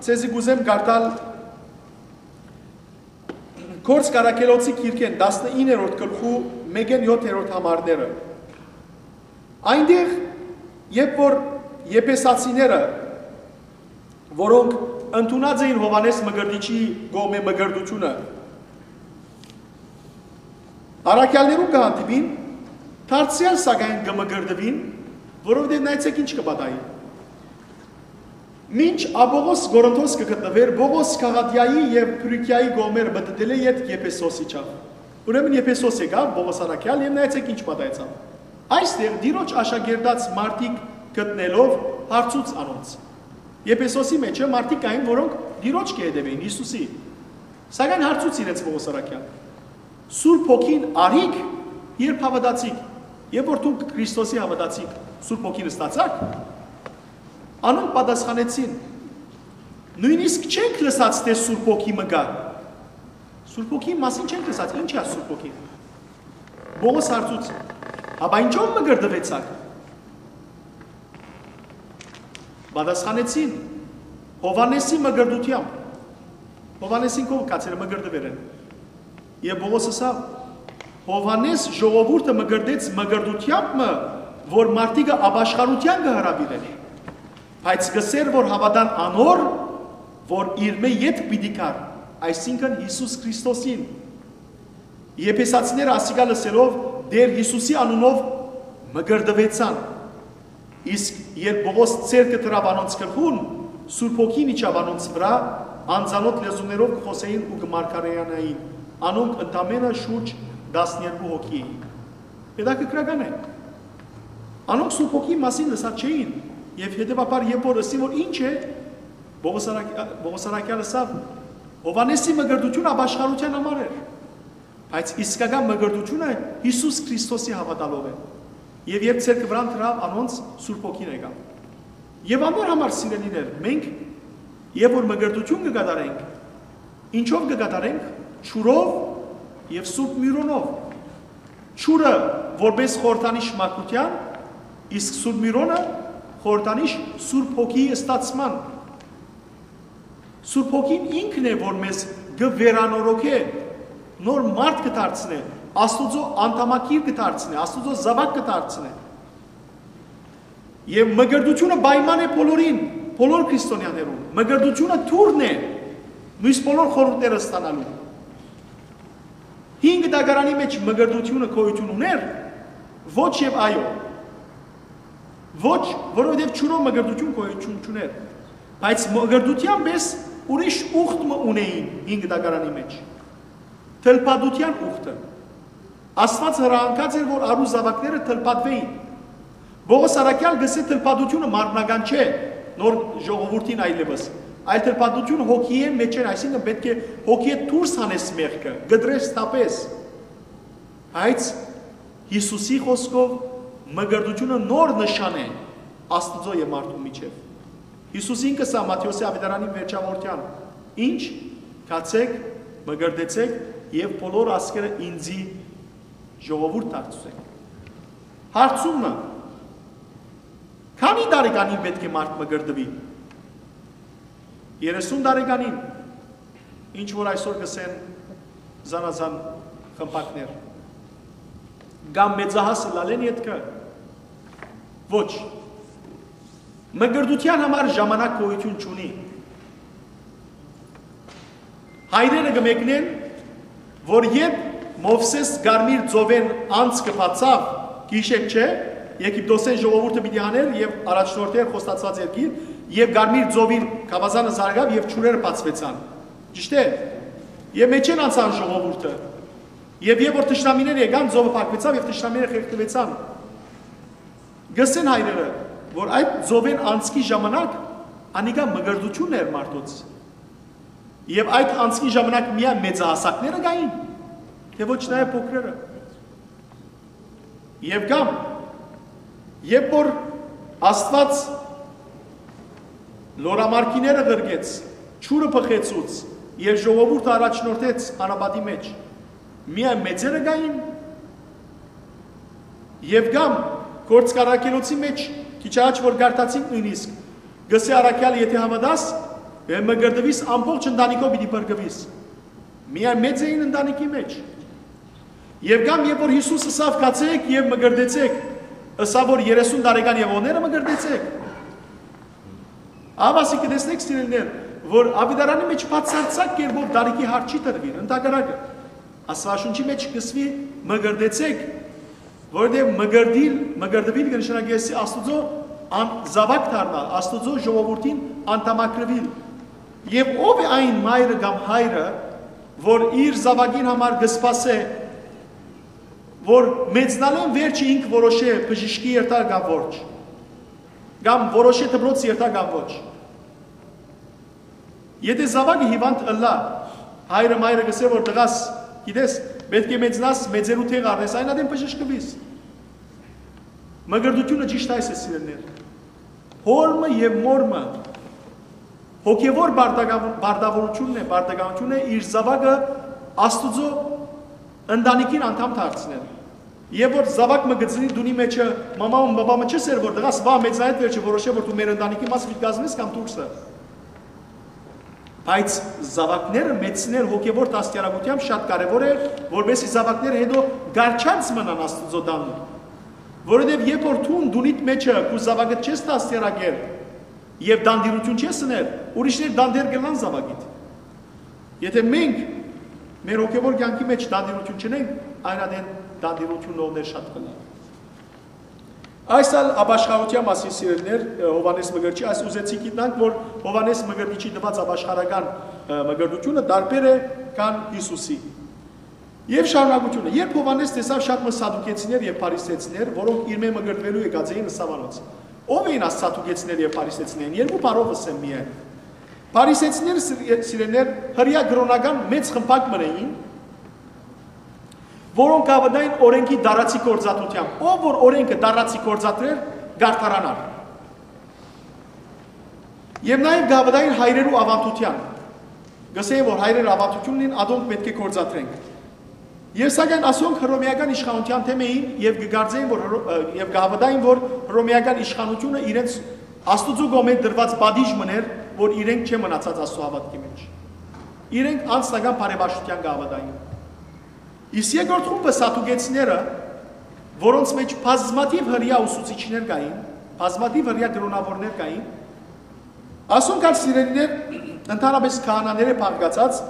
ձեզի կուզեմ կարդալ Գործք առաքելոցի գիրքէն տասնիններորդ գլխու մէկէն յոթերորդ համարները։ Այնտեղ, երբ որ Եփեսացիները, որոնք ընդունած էին Յովհաննէս Մկրտիչի կողմէ մկրտութիւնը, առաքյալներուն կը հանդիպին, դարձեալ սակայն կը մկրտուին, որովհետեւ նայեցէք ինչ կը պատահի։ Մինչ Աբողոս Կորինթոս կը գտնուէր, Պողոս Գաղատիայի եւ Փրիգիայի կողմերը մտտելէ ետք Եփեսոս իջաւ։ Ուրեմն Եփեսոս եկաւ Պողոս առաքյալ եւ նայեցէք ինչ պատահեցաւ։ Այստեղ Տիրոջ աշակերտած մարդիկ գտնելով հարցուց անոնց։ Եփեսոսի մէջը մարդիկ կային, որոնք Տիրոջ կը հետեւէին, Յիսուսի։ Սակայն հարցուց իրենց Պողոս առաքյալ. «Սուրբ Հոգին արիք, երբ հաւատացիք, եւ որ դուք Քրիստոսի հաւատացիք, Սուրբ Հոգին ստացաք»։ Անոնք պատասխանեցին. «Նոյնիսկ չենք լսած, թէ Սուրբ Հոգի մը կայ»։ Սուրբ Հոգի մասին չենք լսած, ի՞նչ է Սուրբ Հոգին։ Պողոս հարցուց. «Հապա ինչո՞վ մկրտուեցաք»։ Պատասխանեցին. «Յովհաննէսի մկրտութեամբ»։ Յովհաննէսին քով գացերը մկրտուեր են։ Եւ Պողոս ըսաւ. «Յովհաննէս ժողովուրդը մկրտեց մկրտութեամբ մը, որ մարդիկը ապաշխարութեան կը հրաւիրէր, բայց կ'ըսէր, որ հաւատան անոր, որ իրմէ ետք պիտի գար, այսինքն Յիսուս Քրիստոսին»։ Եփեսացիները ասիկա լսելով Տէր Յիսուսի անունով մկրտուեցան։ Իսկ երբ Պողոս ձեռքը դրաւ անոնց գլխուն, Սուրբ Հոգին իջաւ անոնց վրայ, անծանօթ լեզուներով կը խօսէին ու կը մարգարեանային, անոնք ընդամէնը շուրջ տասներկու հոգի էին։ Հետաքրքրական է։ Անոնք Սուրբ Հոգի մասին լսած չէին, եւ հետեւաբար, երբ որ ըսին, որ ինչ է, Պողոս առակ-, Պողոս առաքյալ ըսաւ. «Յովհաննէսի մկրտութիւնը ապաշխարութեան համար էր»։ Բայց իսկական մկրտութիւնը Յիսուս Քրիստոսի հաւատալով է։ Եւ երբ ձեռքը վրան դրաւ անոնց, Սուրբ Հոգին եկաւ։ Եւ անոր համար, սիրելիներ, մենք, երբ որ մկրտութիւն կը կատարենք, ինչո՞վ կը կատարենք։ Ջուրով եւ Սուրբ Միրոնով։ Ջուրը որպես խորհրդանիշ մաքրութեան, իսկ Սուրբ Միրոնը խորհրդանիշ Սուրբ Հոգիի ստացման։ Սուրբ Հոգին ինքն է, որ մեզ կը վերանորոգէ, նոր մարդ կը դարձնէ, Աստուծոյ անդամակիր կը դարձնէ, Աստուծոյ զաւակ կը դարձնէ։ Եւ մկրտութիւնը պայման է բոլորին, բոլոր քրիստոնեաներուն։ Մկրտութիւնը դուռն է, միւս բոլոր խորհուրդները ստանալու։ Հին Գտակարանի մէջ մկրտութիւնը գոյութիւն ունէր, ոչ եւ այո։ Ոչ, որովհետեւ ջուրով մկրտութիւն գոյութիւն չունէր, բայց մկրտութեան պէս ուրիշ ուխտ մը ունէին հին կտակարանի մէջ, թլփատութեան ուխտը։ Աստուած հրահանգած էր, որ արու զաւակները թլփատուէին։ Պողոս առաքեալ կ'ըսէ, թլփատութիւնը մարմնական չէ նոր ժողովուրդին այլեւս, այլ թլփատութիւնը հոգիէն մէջէն, այսինքն պէտք է հոգիէ դուրս հանես մեղքը, կտրես, թափես։ Բայց Յիսուսի խօսքով, մկրտութիւնը նոր նշան է Աստուծոյ եւ մարդու միջեւ։ Յիսուս ինքը սա Մատթէոսի աւետարանին վերջաւորթեան. «Ինչ, գացէք, մկրտեցէք եւ բոլոր ազգերը ինծի ժողովուրդ դարձուցէք»։ Հարցումը. քանի՞ տարեկանին պէտք է մարդ մկրտուի։ Երեսուն տարեկանին, ինչ որ այսօր կ'ըսեն զանազան խմբակներ, կամ մեծահաս ըլլալէն ետքը։ Ոչ, մկրտութեան համար ժամանակ գոյութիւն չունի։ Հայրերը կը մեկնեն, որ երբ Մովսէս Կարմիր ծովէն անցքը բացաւ, գիշեր չէ, Եգիպտոսէն ժողովուրդը պիտի հանէր եւ առաջնորդէր խոստացուած երկիր, եւ Կարմիր ծովին գաւազանը զարգաւ եւ ջուրերը բացուեցան։ Ճիշդ է։ Եւ մէջէն անցան ժողովուրդը։ Եւ երբ որ թշնամիներ եկան, ծովը փակուեցաւ եւ թշնամիները խեղդուեցան։ Կ'ըսեն հայրերը, որ այդ ծովէն անցքի ժամանակ անիկա մկրտութիւնն էր մարդոց։ Եւ այդ անցքի ժամանակ միայն մեծահասակները կային, թե ոչ նաեւ փոքրերը։ Եւ կամ, երբ որ Աստուած լորամարգիները ղրկեց, ջուրը բխեցուց եւ ժողովուրդը առաջնորդեց անապատի մէջ, միայն մեծերը կային։ Եւ կամ, Գործք առաքելոցի մէջ, քիչ առաջ որ կարդացինք նոյնիսկ, կ'ըսէ առաքեալ, եթէ հաւատաս, եւ մկրտուիս, ամբողջ ընտանիքով պիտի փրկուիս։ Միայն մեծ էին ընտանիքի մէջ։ Եւ կամ, երբ որ Յիսուս ըսաւ, «Գացէք եւ մկրտեցէք», ըսաւ, որ երեսուն տարեկան եւ օները մկրտեցէք։ Ահա ասիկա, տեսնեք, սիրելիներ, որ աւետարանի մէջ բացարձակ կերպով տարիքի հարց չի տրուիր, ընդհակառակը, Աստուածաշունչի մէջ կ'ըսուի, «Մկրտեցէք», որովհետեւ մկրտիլ, մկրտուիլ կը նշանակէ Աստուծոյ ան-, զաւակ դառնալ, Աստուծոյ ժողովուրդին անդամակրուիլ։ Եւ ո՞վ է այն մայրը կամ հայրը, որ իր զաւակին համար կը սպասէ, որ մեծնալէն վերջը ինք որոշէ բժիշկի երթայ կամ ոչ, կամ որոշէ դպրոց երթայ կամ ոչ։ Եթէ զաւակը հիւանդ ըլլայ, հայրը, մայրը կ'ըսէ, որ «Տղաս, գիտես, պէտք է մեծնաս, մեծերու դեղ առնես, այն ատեն բժշկուիս»։ Մկրտութիւնը ճիշդ այս է, սիրելիներ։ Հօրմը եւ մօրմը հոգեւոր պարտական-, պարտավորութիւնն է, պարտականութիւնն է իր զաւակը Աստուծոյ ընտանիքին անդամ դարձնել։ Երբ որ զաւակ մը կը ծնի տունի մէջը, մամա ու բաբա մը չ'ըսէր, որ «Տղաս, վաղ մեծնայդ վերջը որոշէ, որ դու մեր ընտանիքի մաս պիտի կազմես կամ դուրսը»։ Բայց զաւակները մեծցնել հոգեւոր դաստիարակութեամբ շատ կարեւոր է, որպեսզի զաւակները հետո կառչած մնան Աստուծոյ տան։ Որովհետեւ երբ որ դուն տունիդ մէջը քու զաւակդ չես դաստիարակեր եւ տանտիրութիւն չես ըներ, ուրիշներ տանտեր կ'ըլլան զաւակիդ։ Եթէ մենք մեր հոգեւոր կեանքի մէջ տանտիրութիւն չունենք, այն ատեն տանտիրութիւնն ով ներ շատ կ'ըլլան։ Այս ալ ապաշխարութեան մասին, սիրելիներ, Յովհաննէս Մկրտիչի, այս ուզեցի գիտնանք, որ Յովհաննէս Մկրտիչի տուած ապաշխարական, ը, մկրտութիւնը տարբեր է քան Յիսուսի։ Եւ շարունակութիւնը, երբ Յովհաննէս տեսաւ շատ մը սադուկեցիներ եւ փարիսեցիներ, որոնք իրմէ մկրտուելու եկած էին, ըսաւ անոնց. «Ո՞վ էին այս սադուկեցիները եւ փարիսեցիներն, երկու բառով ըսեմ միայն»։ Փարիսեցիները, սիր-, սիրելիներ, հրեայ կրօնական մեծ խմբակ մը էին, որոնք կ'աւատային օրէնքի տարածի գործածութեամբ։ Ով որ օրէնքը տարածի գործադրեր, կ'արդարանար։ Եւ նաեւ կ'աւատային հայրերու աւանդութեան։ Կ'ըսէին, որ հայրերը աւանդութիւն ունին, ատոնք պէտք է գործադրենք։ Եւ սակայն ասոնք հռոմէական իշխանութեան դէմ էին եւ կը կարծէին, որ հռո-, ը, եւ կ'աւատային, որ հռոմէական իշխանութիւնը իրենց Աստուծոյ կողմէ տրուած պատիժ մըն էր, որ իրենք չեն մնացած Աստուծոյ հաւատքի մէջ։ Իրենք անձնական բարեպաշտութեան կ'աւատային։ Իսկ երկրորդ խումբը սադուկեցիները, որոնց մէջ բազմաթիւ հրեայ ուսուցիչներ կային, բազմաթիւ հրեայ կրօնաւորներ կային, ասոնք ալ, սիրելիներ, ընդհանրապես քահանաները բաղկացած,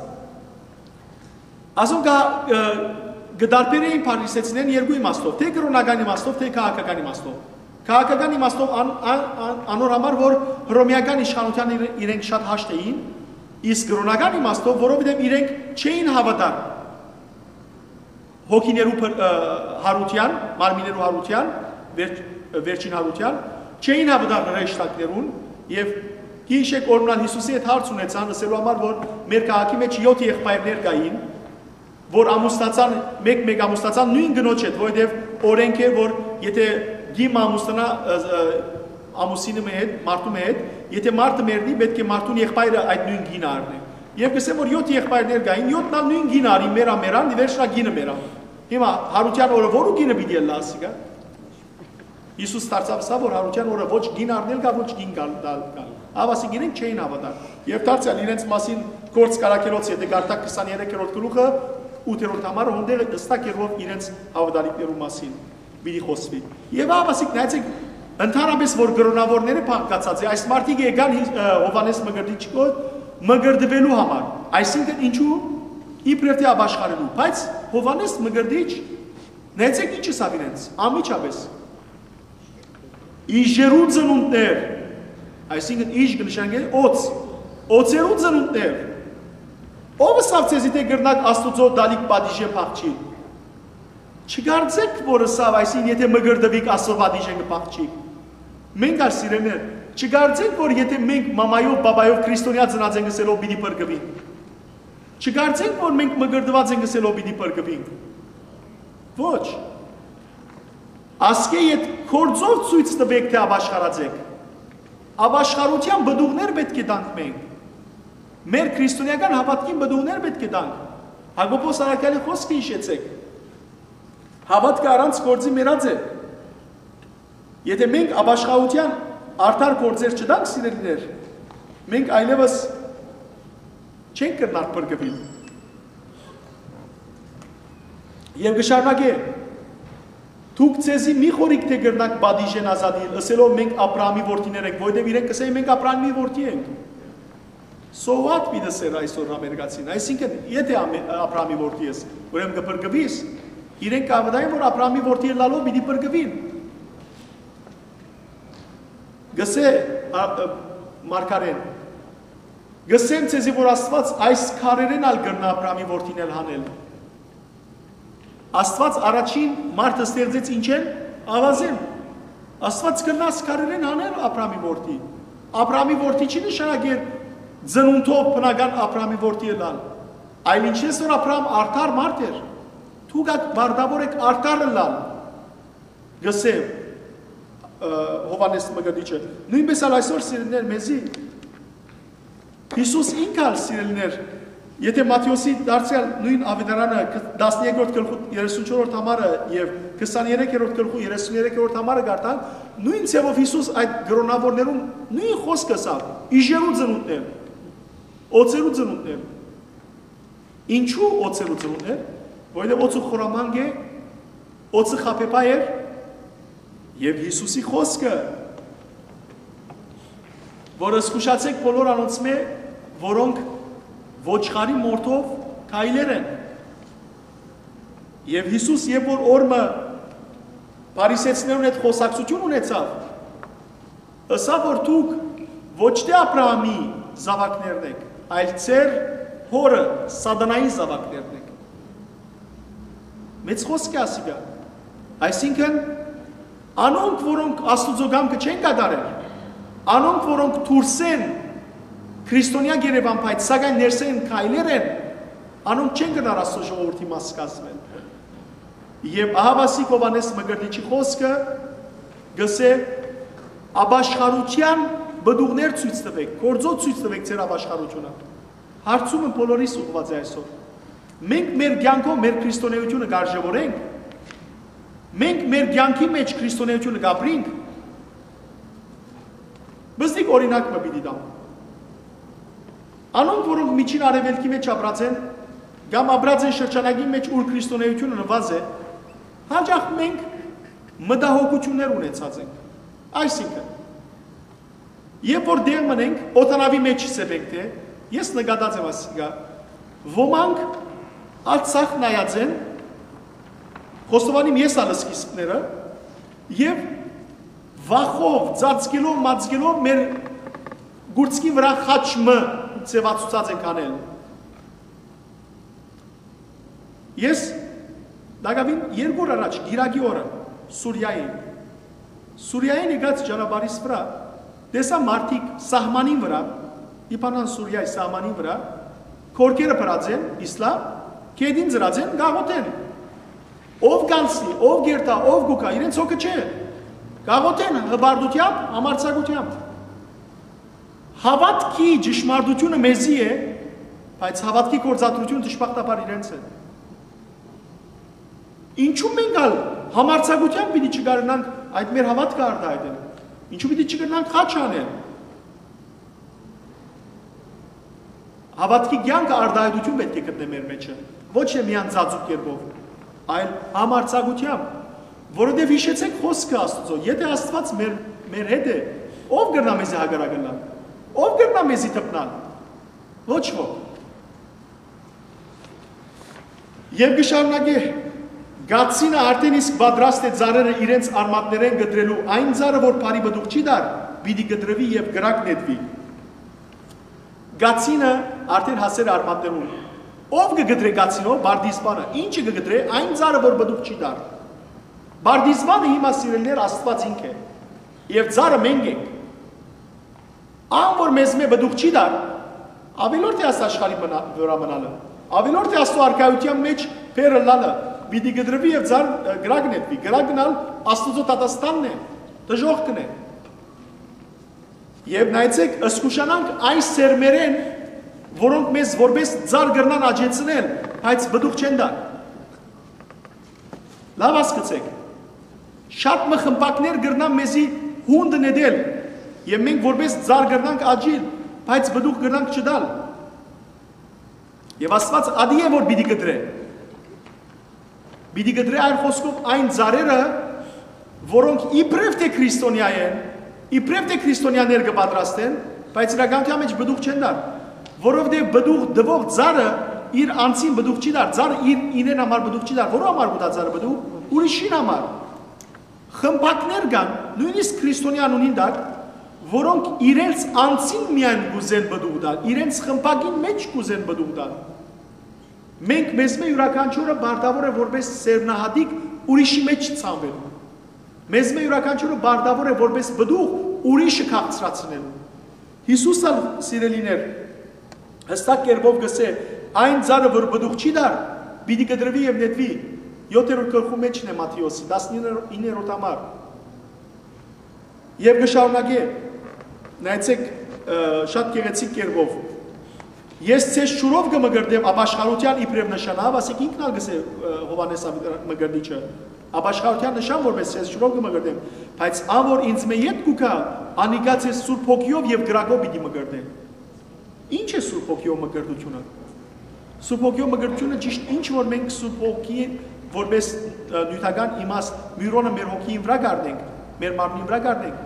ասոնք ա-, ը, կը տարբերէին փարիսեցիներն երկու իմաստով, թէ կրօնական իմաստով, թէ քաղաքական իմաստով։ Քաղաքական իմաստով ան, ան, ան, անոր համար, որ հռոմեական իշխանութեան իրենք շատ հաշտ էին, իսկ կրօնական իմաստով, որովհետեւ իրենք չէին հաւատար հոգիներու փր-, ը, հարութեան, մարմիներու հարութեան, վերջ-, վերջին հարութեան, չէին հաւատար հրեշտակներուն, եւ գիշեք օրմնալ Հիսուսի հետ հարց ունեցան, ըսելու համար, որ մեր քաղաքի մեջ յոթ եղբայրներ կային, որ ամուսնացան, մեկ-մեկ ամուսնացան նոյն կնոջ հետ, որովհետեւ օրենք էր, որ եթե կին մը ամուսնանայ, ը, ը, ամուսինը մը հետ, մարդու մը հետ, եթե մարդը մեռնի, պէտք է մարդուն եղբայրը այդ նոյն կինը առնէ։ Եւ կ'ըսեմ, որ յոթ եղբայրներ կային, յոթն ալ նոյն կինը առին, մեռան, մեռան, ի վերջնա կինը մեռան։ Հիմա հարութեան օրը որու կինը պիտի ըլլայ ասիկա։ Հիսուս դարձաւ սա, որ հարութեան օրը ոչ կին առնել կայ, ոչ կին գալ, տալ կայ։ Ահա ասիկ իրենք չէին հաւատար։ Եւ դարձեալ իրենց մասին Գործք առաքելոց, եթե կարդաք քսաներեքերորդ գլուխը, ութերորդ համարը, հոն տեղը հստակ էր, որ իրենց հաւատալիքներու մասին պիտի խօսուի։ Եւ ահա ասիկ, նայեցեք, ընդհանրապես որ կրօնավորները փակացած է, այս մարդիկ եկան Հի-, ը, Յովհաննէս Մկրտիչ կողմ մկրտուելու համար, այսինքն ինչու, իբրեւ թէ ապաշխարելու, բայց Յովհաննէս Մկրտիչ, նայեցեք ինչ ըսաւ իրենց, անմիջապես. «Իժերու ծնունդներ», այսինքն իժ կը նշանակէ օծ, «օծերու ծնունդներ, ո՞վ ըսաւ ձեզի թէ կրնաք Աստուծոյ դալիք պատիժէն փախչիլ։ Չկարծէք որ ըսաւ, այսինքն, եթե մկրտուիք, Աստուծոյ պատիժէն կը փախչիք։ Մենք ալ սիրելիներ, չկարծենք որ եթե մենք մամայով, բաբայով քրիստոնեայ ծնած ենք ըսելով պիտի փրկուին։ Չկարծենք որ մենք մկրտուած ենք ըսելով պիտի փրկուինք։ Ոչ։ Ասկէ յետ գործով ցոյց տուէք թէ ապաշխարած էք։ Ապաշխարութեան պտուղներ պէտք է տանք մենք։ Մեր քրիստոնեական հաւատքին պտուղներ պէտք է տանք։ Յակոբոս առաքեալի խօսքը յիշեցէք։ Հաւատքը առանց գործի մեռած է։ Եթե մենք ապաշխարութեան արդար գործեր չտանք, սիրելիներ, մենք այլեւս չենք կրնար փրկուիլ։ Եւ կը շարունակէ. «Դուք ձեզի մի խորհիք թէ կրնաք պատիժէն ազատիլ, ըսելով մենք Աբրահամի որդիներ ենք», որովհետեւ իրենք կ'ըսեն, «Մենք Աբրահամի որդի ենք»։ So what պիտի ըսէր այսօր ամերիկացին, այսինքն, եթե Աբրահամի որդի ես, ուրեմն կը փրկուիս, իրենք կ'ավդային, որ Աբրահամի որդի ըլլալով պիտի փրկուին։ Գսե, ա, ը, մարգարեն, գսեմ ձեզի, որ Աստուած այս քարերէն ալ կրնայ Աբրահամի որդիներ հանել։ Աստուած առաջին մարդը ստեղծեց ինչէն, ավազէն։ Աստուած կրնայ այս քարերէն հանել Աբրահամի որդի։ Աբրահամի որդի չի նշանակեր ծնունդով բնական Աբրահամի որդի ըլլալ, այլ ինչպես որ Աբրահամ արդար մարդ էր, դուք ալ պարտավոր էք արդար ըլլալ, գսե, ը, Յովհաննէս Մկրտիչը։ Նոյնպէս ալ այսօր, սիրելիներ, մեզի Յիսուս ինք ալ, սիրելիներ, եթե Մատթէոսի դարձեալ նոյն աւետարանը, տասներկերորդ գլխու երեսունչորդ համարը եւ քսաներեքերորդ գլխու երեսուներեքերորդ համարը կարդանք, նոյն ձեւով Յիսուս այդ կրօնավորներուն նոյն խօսքը ըսաւ. «Իժերու ծնունդներ, օծերու ծնունդներ»։ Ինչու օծերու ծնունդներ։ Որովհետեւ օծը խորամանկ է, օծը խաբեբայ էր, եւ Յիսուսի խօսքը, որ զգուշացէք բոլոր անոնցմէ, որոնք ոչխարի մորթով քայլեր են։ Եւ Յիսուս, երբ որ օրը փարիսեցիներուն հետ խօսակցութիւն ունեցաւ, ըսաւ, որ դուք ոչ թէ Աբրահամի զաւակներն էք, այլ ձեր հօրը Սատանայի զաւակներն էք։ Մեծ խօսք է ասիկա։ Այսինքն, անոնք, որոնք Աստուծոյ կամքը չեն կատարեր, անոնք, որոնք դուրսէն քրիստոնեայ կ'երեւան, բայց սակայն ներսէն քայլեր են, անոնք չեն կրնար Աստուծոյ ժողովուրդի մաս կազմել։ Եւ ահա ասիկ Յովհաննէս Մկրտիչի խօսքը գսէ. «Ապաշխարութեան պտուղներ ցոյց տուէք, գործով ցոյց տուէք ձեր ապաշխարութիւնը»։ Հարցումը բոլորիս ուղղուած է այսօր։ Մենք մեր կեանքով մեր քրիստոնեությունը կարժեւորենք։ Մենք մեր կեանքի մեջ քրիստոնեությունը կապրինք։ Բզդիկ օրինակ մը պիտի տամ։ Անոնք, որոնք Միջին Արեւելքի մեջ ապրած են, կամ ապրած են շրջանակի մեջ, ուր քրիստոնեությունը նուազ է, հաճախ մենք մտահոգություններ ունեցած ենք։ Այսինքն, երբ որ դեղ մնենք, օտանավի մեջ սեփենք, թէ, ես նկատած եմ ասիկա, ոմանք արձակ նայած են, խոստովանիմ ես ալ սկիզբները, եւ բախով, ծածկելով, մածկելով մեր գուրցքի վրայ խաչ մը ձևացուցած ենք անել։ Ես տակաւին երկու օր առաջ, Կիրակի օրը, Սուրիայի, Սուրիայէն եկած ճանապարհիս վրայ, տեսայ մարդիկ սահմանին վրայ, Լիբանան-Սուրիայի սահմանին վրայ, կորքերը փրած են, Իսլամ, կեդին ծրած են, գաղութ են։ Ով կ'անցնի, ով կ'երթայ, ով կու գայ, իրենց հոգը չէ։ Գաղութ են հպարտութեամբ, համարձակութեամբ։ Հաւատքի ճշմարտությունը մեզի է, բայց հաւատքի գործադրությունը դժբախտաբար իրենց է։ Ինչու՞ մենք ալ համարձակութեամբ պիտի չկարենանք այդ մեր հաւատքը արտայայտել։ Ինչու՞ պիտի չկրնանք խաչ անել։ Հաւատքի կեանքը արտայայտութիւն պէտք է գտնէ մեր մէջը, ոչ թե միայն ծածուկ կերպով, այլ համարձակութեամբ, որովհետեւ յիշեցէք խօսքը Աստուծոյ. եթէ Աստուած մեր, մեր հետ է, ո՞վ կրնայ մեզի հակառակ ըլլալ, ո՞վ կրնայ մեզի դպնալ։ Ոչ ոք։ Եւ կը շարունակէ. «Կացինը արդէն իսկ պատրաստ է ծառերը իրենց արմատներէն կտրելու։ Այն ծառը, որ բարի պտուղ չի տար, պիտի կտրուի եւ կրակ նետուի»։ Կացինը արդէն հասեր արմատներուն։ Ո՞վ կը կտրէ կացինով? Պարտիզպանը։ Ի՞նչը կը կտրէ? Այն ծառը, որ պտուղ չի տար։ Պարտիզպանը հիմա, սիրելիներ, Աստուած ինք է։ Եւ ծառը մենք ենք։ Ան որ մեզմէ պտուղ չի տար, աւելորդ է աս աշխարհի մնա-, վրայ մնալը, աւելորդ է Աստուծոյ արքայութեան մէջ բեռ ըլլալը, պիտի կտրուի եւ ծառ, ը, կրակ նետուի։ Կրակն ալ Աստուծոյ դատաստանն է, դժոխքն է։ Եւ նայեցէք, զգուշանանք այս սերմերէն, որոնք մեզ որպէս ծառ կրնան աճեցնել, բայց պտուղ չեն տար։ Լաւ հասկցէք։ Շատ մը խմբակներ կրնան մեզի հունդ նետել, եւ մենք որպէս ծառ կրնանք աճիլ, բայց պտուղ կրնանք չտալ։ Եւ Աստուած ատի է, որ պիտի կտրէ։ Պիտի կտրէ, այլ խօսքով, այն ծառերը, որոնք իբրեւ թէ քրիստոնեայ են, իբրեւ թէ քրիստոնեաներ կը պատրաստեն, բայց իրականութեան մէջ պտուղ չեն տար, որովհետեւ պտուղ տուող ծառը իր անձին պտուղ չի տար, ծառը իր իրեն համար պտուղ չի տար, որու համար կու տայ ծառը պտուղ, ուրիշին համար։ Խմբակներ կան, նոյնիսկ քրիստոնեայ անունին տակ, որոնք իրենց անձին միայն կուզեն պտուղ տալ, իրենց խմբակին մէջ կուզեն պտուղ տալ։ Մենք մեզմէ իւրաքանչիւրը պարտաւոր է որպէս սերմնահատիկ ուրիշի մէջ ցանուելու։ Մեզմէ իւրաքանչիւրը պարտաւոր է որպէս պտուղ ուրիշը քաղցրացնելու։ Յիսուս ալ, սիրելիներ, յստակ կերպով կ'ըսէ. «Այն ծառը, որ պտուղ չի տար, պիտի կտրուի եւ նետուի»։ Յոթերորդ գլխու մէջն է Մատթէոսի, տասնիններորդ համար։ Եւ կը շարունակէ, նայեցէք, ը, շատ գեղեցիկ կերպով. «Ես ձեզ ջուրով կը մկրտեմ ապաշխարութեան իբրեւ նշանաւ», ասիկա ինքն ալ կ'ըսէ, ը, Յովհաննէս Մկրտիչը, «ապաշխարութեան նշան որպէս ձեզ ջուրով կը մկրտեմ, բայց ան որ ինձմէ յետ կու գայ, անիկա ձեզ Սուրբ Հոգիով եւ կրակով պիտի մկրտէ»։ Ի՞նչ է Սուրբ Հոգիով մկրտութիւնը։ Սուրբ Հոգիով մկրտութիւնը ճիշտ ինչ որ մենք Սուրբ Հոգի որպէս, ը, նիւթական իմաստ, միւռոնը մեր հոգիին վրայ կ'առնենք, մեր մարմնին վրայ կ'առնենք,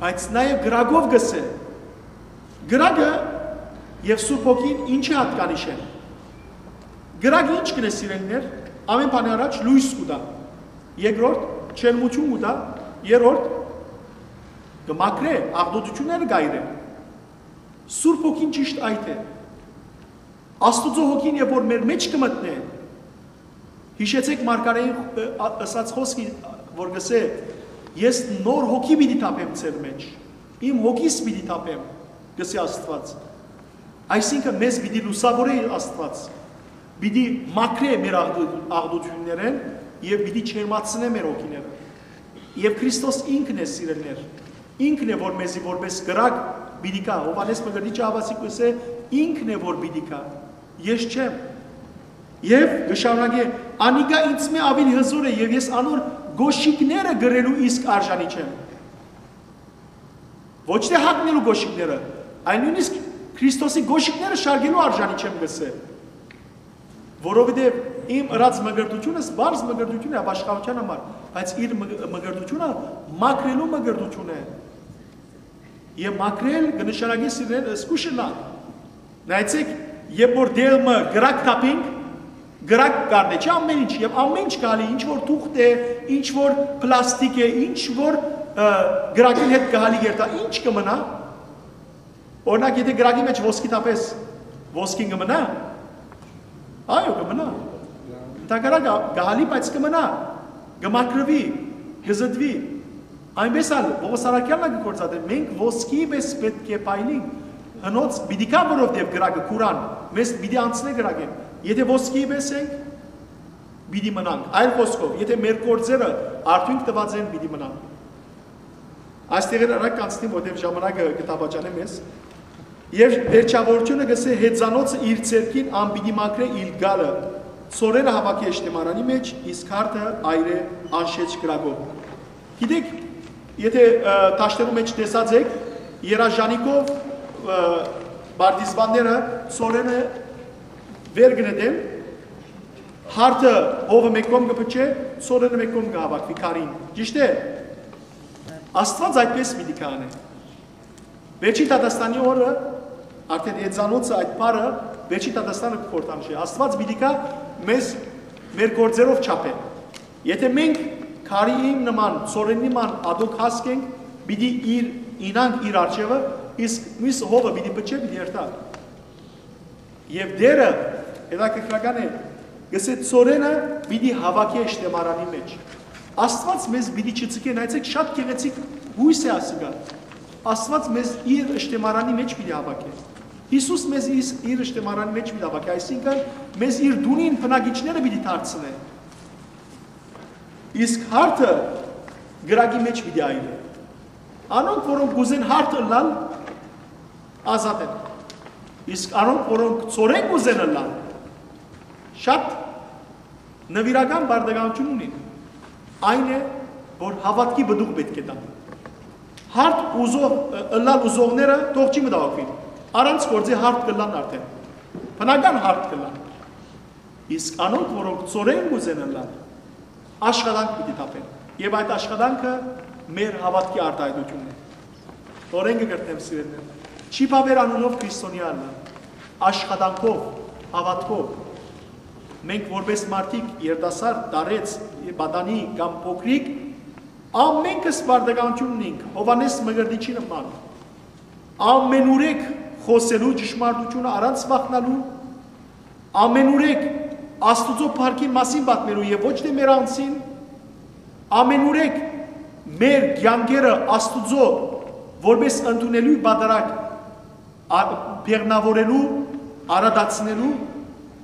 բայց նաեւ կրակով կ'ըսէ։ Կրակը եւ Սուրբ Հոգին ինչի՞ յատկանիշ են։ Կրակը ի՞նչ կ'ընէ, սիրելիներ, ամէն բանի առաջ լոյս կու տայ, երկրորդ՝ ջերմութիւն կու տայ, երրորդ՝ կը մաքրէ, աղտոտութիւնները կ'այրէ։ Սուրբ Հոգին ճիշտ այդ է։ Աստուծոյ Հոգին է, որ մեր մէջ կը մտնէ։ Յիշեցէք մարգարէին, ը, ա-, ըսած խօսքը, որ կ'ըսէ. «Ես նոր հոգի պիտի թափեմ ձեր մէջ, իմ հոգիս պիտի թափեմ», կ'ըսէ Աստուած։ Այսինքն՝ մեզ պիտի լուսաւորէ Աստուած, պիտի մաքրէ մեր աղտու-, աղտոտիւններէն եւ պիտի ջերմացնէ մեր հոգիները։ Եւ Քրիստոս ինքն է, սիրելիներ, ինքն է, որ մեզի որպէս կրակ պիտի գայ։ Յովհաննէս Մկրտիչը հաւասիկ կ'ըսէ. «Ինքն է, որ պիտի գայ, ես չեմ»։ Եւ կը շարունակէ. «Անիկա ինձմէ աւելի հզօր է եւ ես անոր կոշիկները կրելու իսկ արժանի չեմ»։ Ոչ թէ հագնելու կոշիկները, այլ նոյնիսկ Քրիստոսի կոշիկները շարքելու արժանի չեմ, կ'ըսէ։ Որովհետեւ իմ ըրած մկրտութիւնս պարզ մկրտութիւն է ապաշխարութեան համար, բայց իր մկ-, մկրտութիւնը մաքրելու մկրտութիւն է։ Եւ մաքրել կը նշանակի սիրել զգուշ ըլլալ։ Նայեցէք, երբ որ դեղը կրակ թափենք, կրակ կ'առնէ, չէ՞, ամեն ինչ, եւ ամեն ինչ կ'ալի, ինչ որ թուղթ է, ինչ որ պլաստիկ է, ինչ որ ը, կրակին հետ կը հալի երթայ, ի՞նչ կը մնայ։ Օրինակ, եթէ կրակի մէջ ոսկի թափես, ոսկին կը մնայ։ Այո, կը մնայ։ Ընդհակառակը, կը հալի, բայց կը մնայ, կը մաքրուի, կը զտուի։ Այնպէս ալ Պողոս առաքեալն ալ կը գործածէ, մենք ոսկի պէս պէտք է փայլինք, հնոց պիտի գայ, որովհետեւ կրակը կուրան, մեզ պիտի անցնէ կրակէն։ Եթէ ոսկի պէս ենք, պիտի մնանք։ Այլ խօսքով, եթէ մեր գործերը արդիւնք տուած են, պիտի մնան։ Այս տեղերը արագ կանցնի, որտեղ ժամանակը կը դավաճանէ մեզ։ Եւ վերջավորությունը կ'ըսէ. «Հեծանոցը իր ձեռքին ան պիտի մաքրէ իր գալը, ցորենը հաւաքէ ըշտեմարանի մէջ, իսկ հարթը այրէ անշէչ կրակով»։ Գիտեք, եթէ, ը, դաշտերու մէջ տեսած եք, երաժանիքով, ը, պարտիզպանները ցորենը վեր կը նետեն, հարթը հովը մէկ կողմ կը փչէ, ցորենը մէկ կողմ կը հաւաքուի քարին։ Ճիշդ է։ Աստուած այդպէս պիտի քանէ։ Վերջին դատաստանի օրը, արդեն հեծանոցը, այդ բառը վերջին դատաստանը կը խորհրդանշի։ Աստուած պիտի գայ մեզ, մեր գործերով չափել։ Եթէ մենք քարի իմ նման, ցորենի նման ատոք հասկենք, պիտի իր, ինանք իր արջևը, իսկ միս հովը պիտի փչէ, պիտի երթայ։ Եւ Տէրը, հետաքրքրական է, կ'ըսէ. «Ցորենը պիտի հաւաքէ ըշտեմարանի մէջ»։ Աստուած մեզ պիտի չցկէ, նայեցեք, շատ գեղեցիկ յոյս է ասիկա։ Աստուած մեզ իր ըշտեմարանի մէջ պիտի հաւաքէ։ Յիսուս մեզ իս-, իր ըշտեմարանի մէջ պիտի հաւաքէ, այսինքն մեզ իր դունին բնակիչները պիտի դարձնէ։ Իսկ հարթը կրակի մէջ պիտի այրէ։ Անոնք, որոնք կ'ուզեն հարթ ըլլալ, ազատ են։ Իսկ անոնք, որոնք ցորեն կ'ուզեն ըլլալ, շատ նուիրական պարտականութիւն ունին։ Այն է, որ հաւատքի պտուղ պէտք է տան։ Հարթ ուզող, ը, ըլլալ ուզողները թող չի մտահոգուին։ Առանց գործի հարթ կ'ըլլան արդեն։ Բնական հարթ կ'ըլլան։ Իսկ անոնք, որոնք ցորեն կ'ուզեն ըլլալ, աշխատանք պիտի թափեն։ Եւ այդ աշխատանքը մեր հաւատքի արտայայտութիւնն է։ Նորէն կը կրկնեմ, սիրելիներ, չի բաւեր անունով քրիստոնեայ ըլլալ, աշխատանքով, հաւատքով։ Մենք որպէս մարդիկ, երիտասարդ, տարեց, պատանի կամ փոքրիկ, ամենքս պարտականութիւն ունենք, Յովհաննէս Մկրտիչի նման։ Ամենուրեք խօսելու ճշմարտութիւնը առանց վախնալու, ամենուրեք Աստուծոյ փառքին մասին պատմելու եւ ոչ թէ մեր անձին, ամենուրեք մեր կեանքերը Աստուծոյ որպէս ընդունելի պատարագ ա-, բեղնաւորելու, արատացնելու,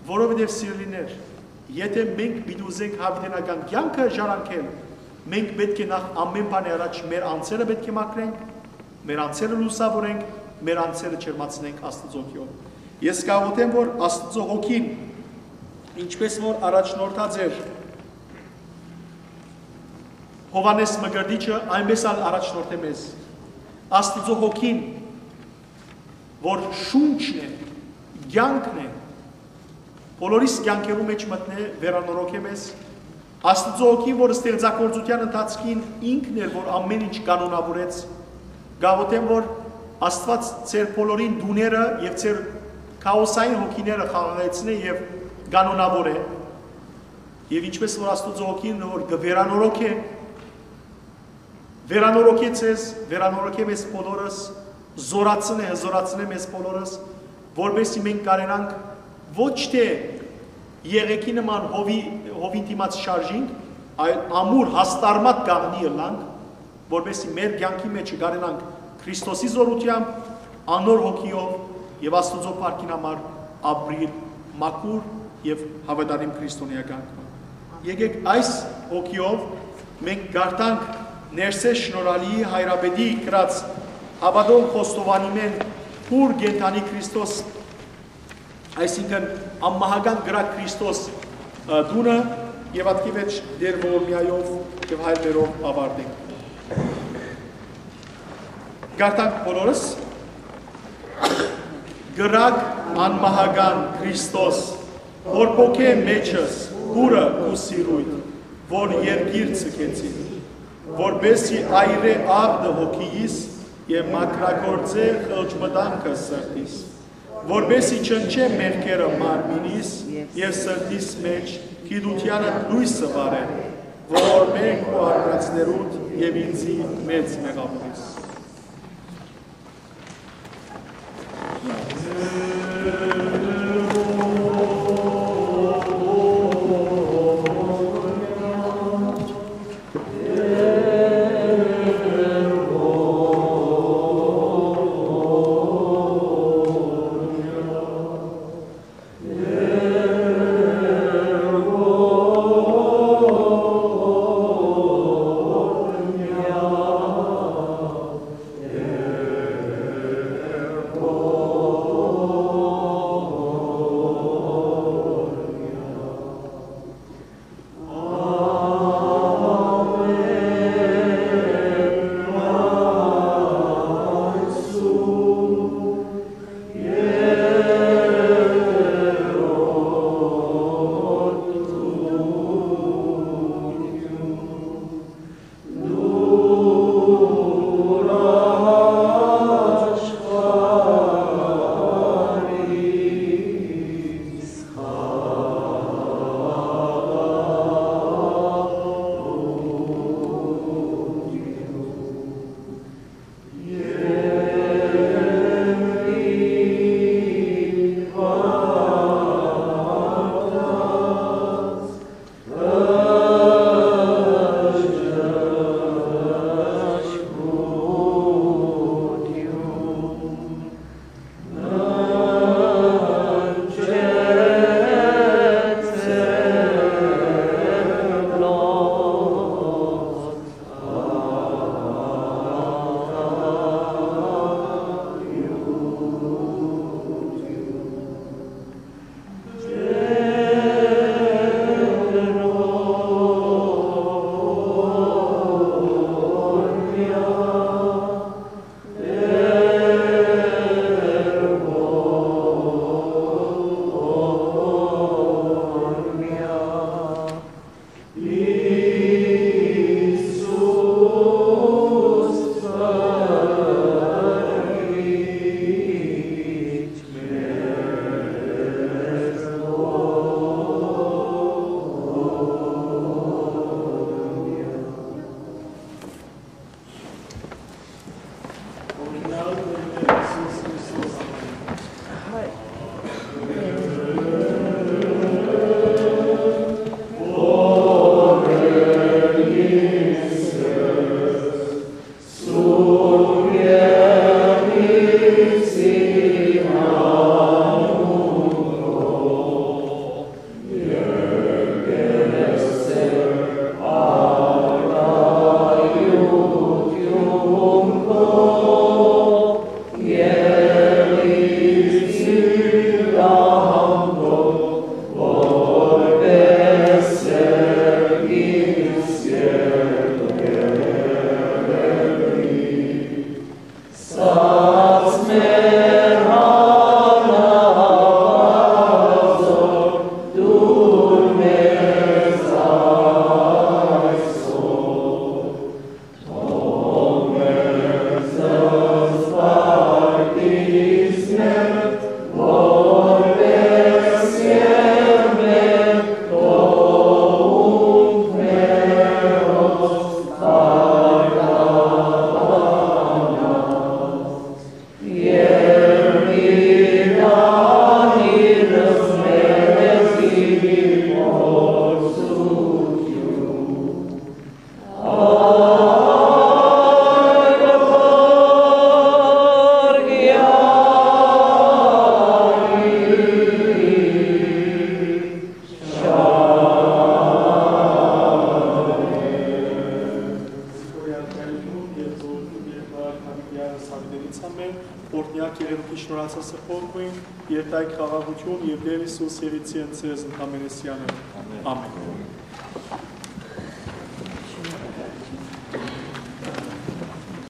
որովհետեւ, սիրելիներ, եթէ մենք պիտի ուզենք յաւիտենական կեանքը ժառանգել, մենք պէտք է նախ ամէն բանի առաջ մեր անձերը պէտք է մաքրենք, մեր անձերը լուսաւորենք, մեր անձերը ջերմացնենք Աստուծոյ հոգիով։ Ես կաղոթեմ, որ Աստուծոյ հոգին, ինչպես որ առաջնորդած էր Յովհաննէս Մկրտիչը, այնպես ալ առաջնորդէ մեզ։ Աստուծոյ հոգին, որ շունչն է, կեանքն է, բոլորիս կեանքերու մէջ մտնէ, վերանորոգէ մեզ։ Աստուծոյ հոգին, որ ստեղծագործութեան ընթացքին ինքն էր, որ ամէն ինչ կանոնաւորեց, կաղոթեմ, որ Աստուած ձեր բոլորին տուները եւ ձեր քաոսային հոգիները խաղաղեցնէ եւ կանոնաւորէ։ Եւ ինչպես որ Աստուծոյ հոգին, որ կը վերանորոգէ, վերանորոգէ ձեզ, վերանորոգէ մեզ բոլորս, զորացնէ, հզորացնէ մեզ բոլորս, որպեսզի մենք կարենանք ոչ թէ եղեքի նման հովի, հովին դիմաց շարժինք, այլ ամուր հաստարմատ կաղնի ըլլանք, որպեսզի մեր կեանքի մեջ կարենանք Քրիստոսի զորութեամբ, անոր հոգիով եւ Աստուծոյ փառքին համար ապրիլ մաքուր եւ հաւատարիմ քրիստոնեական կերպ։ Եկեք այս հոգիով մենք կարդանք Ներսէս Շնորհալիի հայրապետի գրած հաւատող խոստովանին, մէն, Ուրը կենդանի Քրիստոս, այսինքն անմահական կրակ Քրիստոս, ը, տունը, եւ ատկի վեր Տէր ողորմեայով եւ հայրերով ավարտենք։ Կարդանք բոլորս. «Կրակ անմահական Քրիստոս, որ փոքէ մեջս ուրը ու սիրոյթ, որ երկիր ցկեցին, որպեսզի այրէ աղտը հոգիիս եւ մաքրագործէ խղճ մտանքը սրտիս, որպեսզի չնչէ մեղքերը մարմինիս եւ սրտիս մէջ, գիտութեանը լոյսը վարէ, որ մենք ու արարածներուդ եւ ինձի մեծ մեղավորես։ Զինուորեան Տէրն ու Երկնորդ Հաւիտեան Սաւիտենից ամէն, օրհնեակ եղեք, շնորհացած ըլլաք գոյն, երթայք խաղաղութիւն եւ Տէր Յիսուս Սերիցի ընծեզ ընդամենեսյանը։ Ամէն։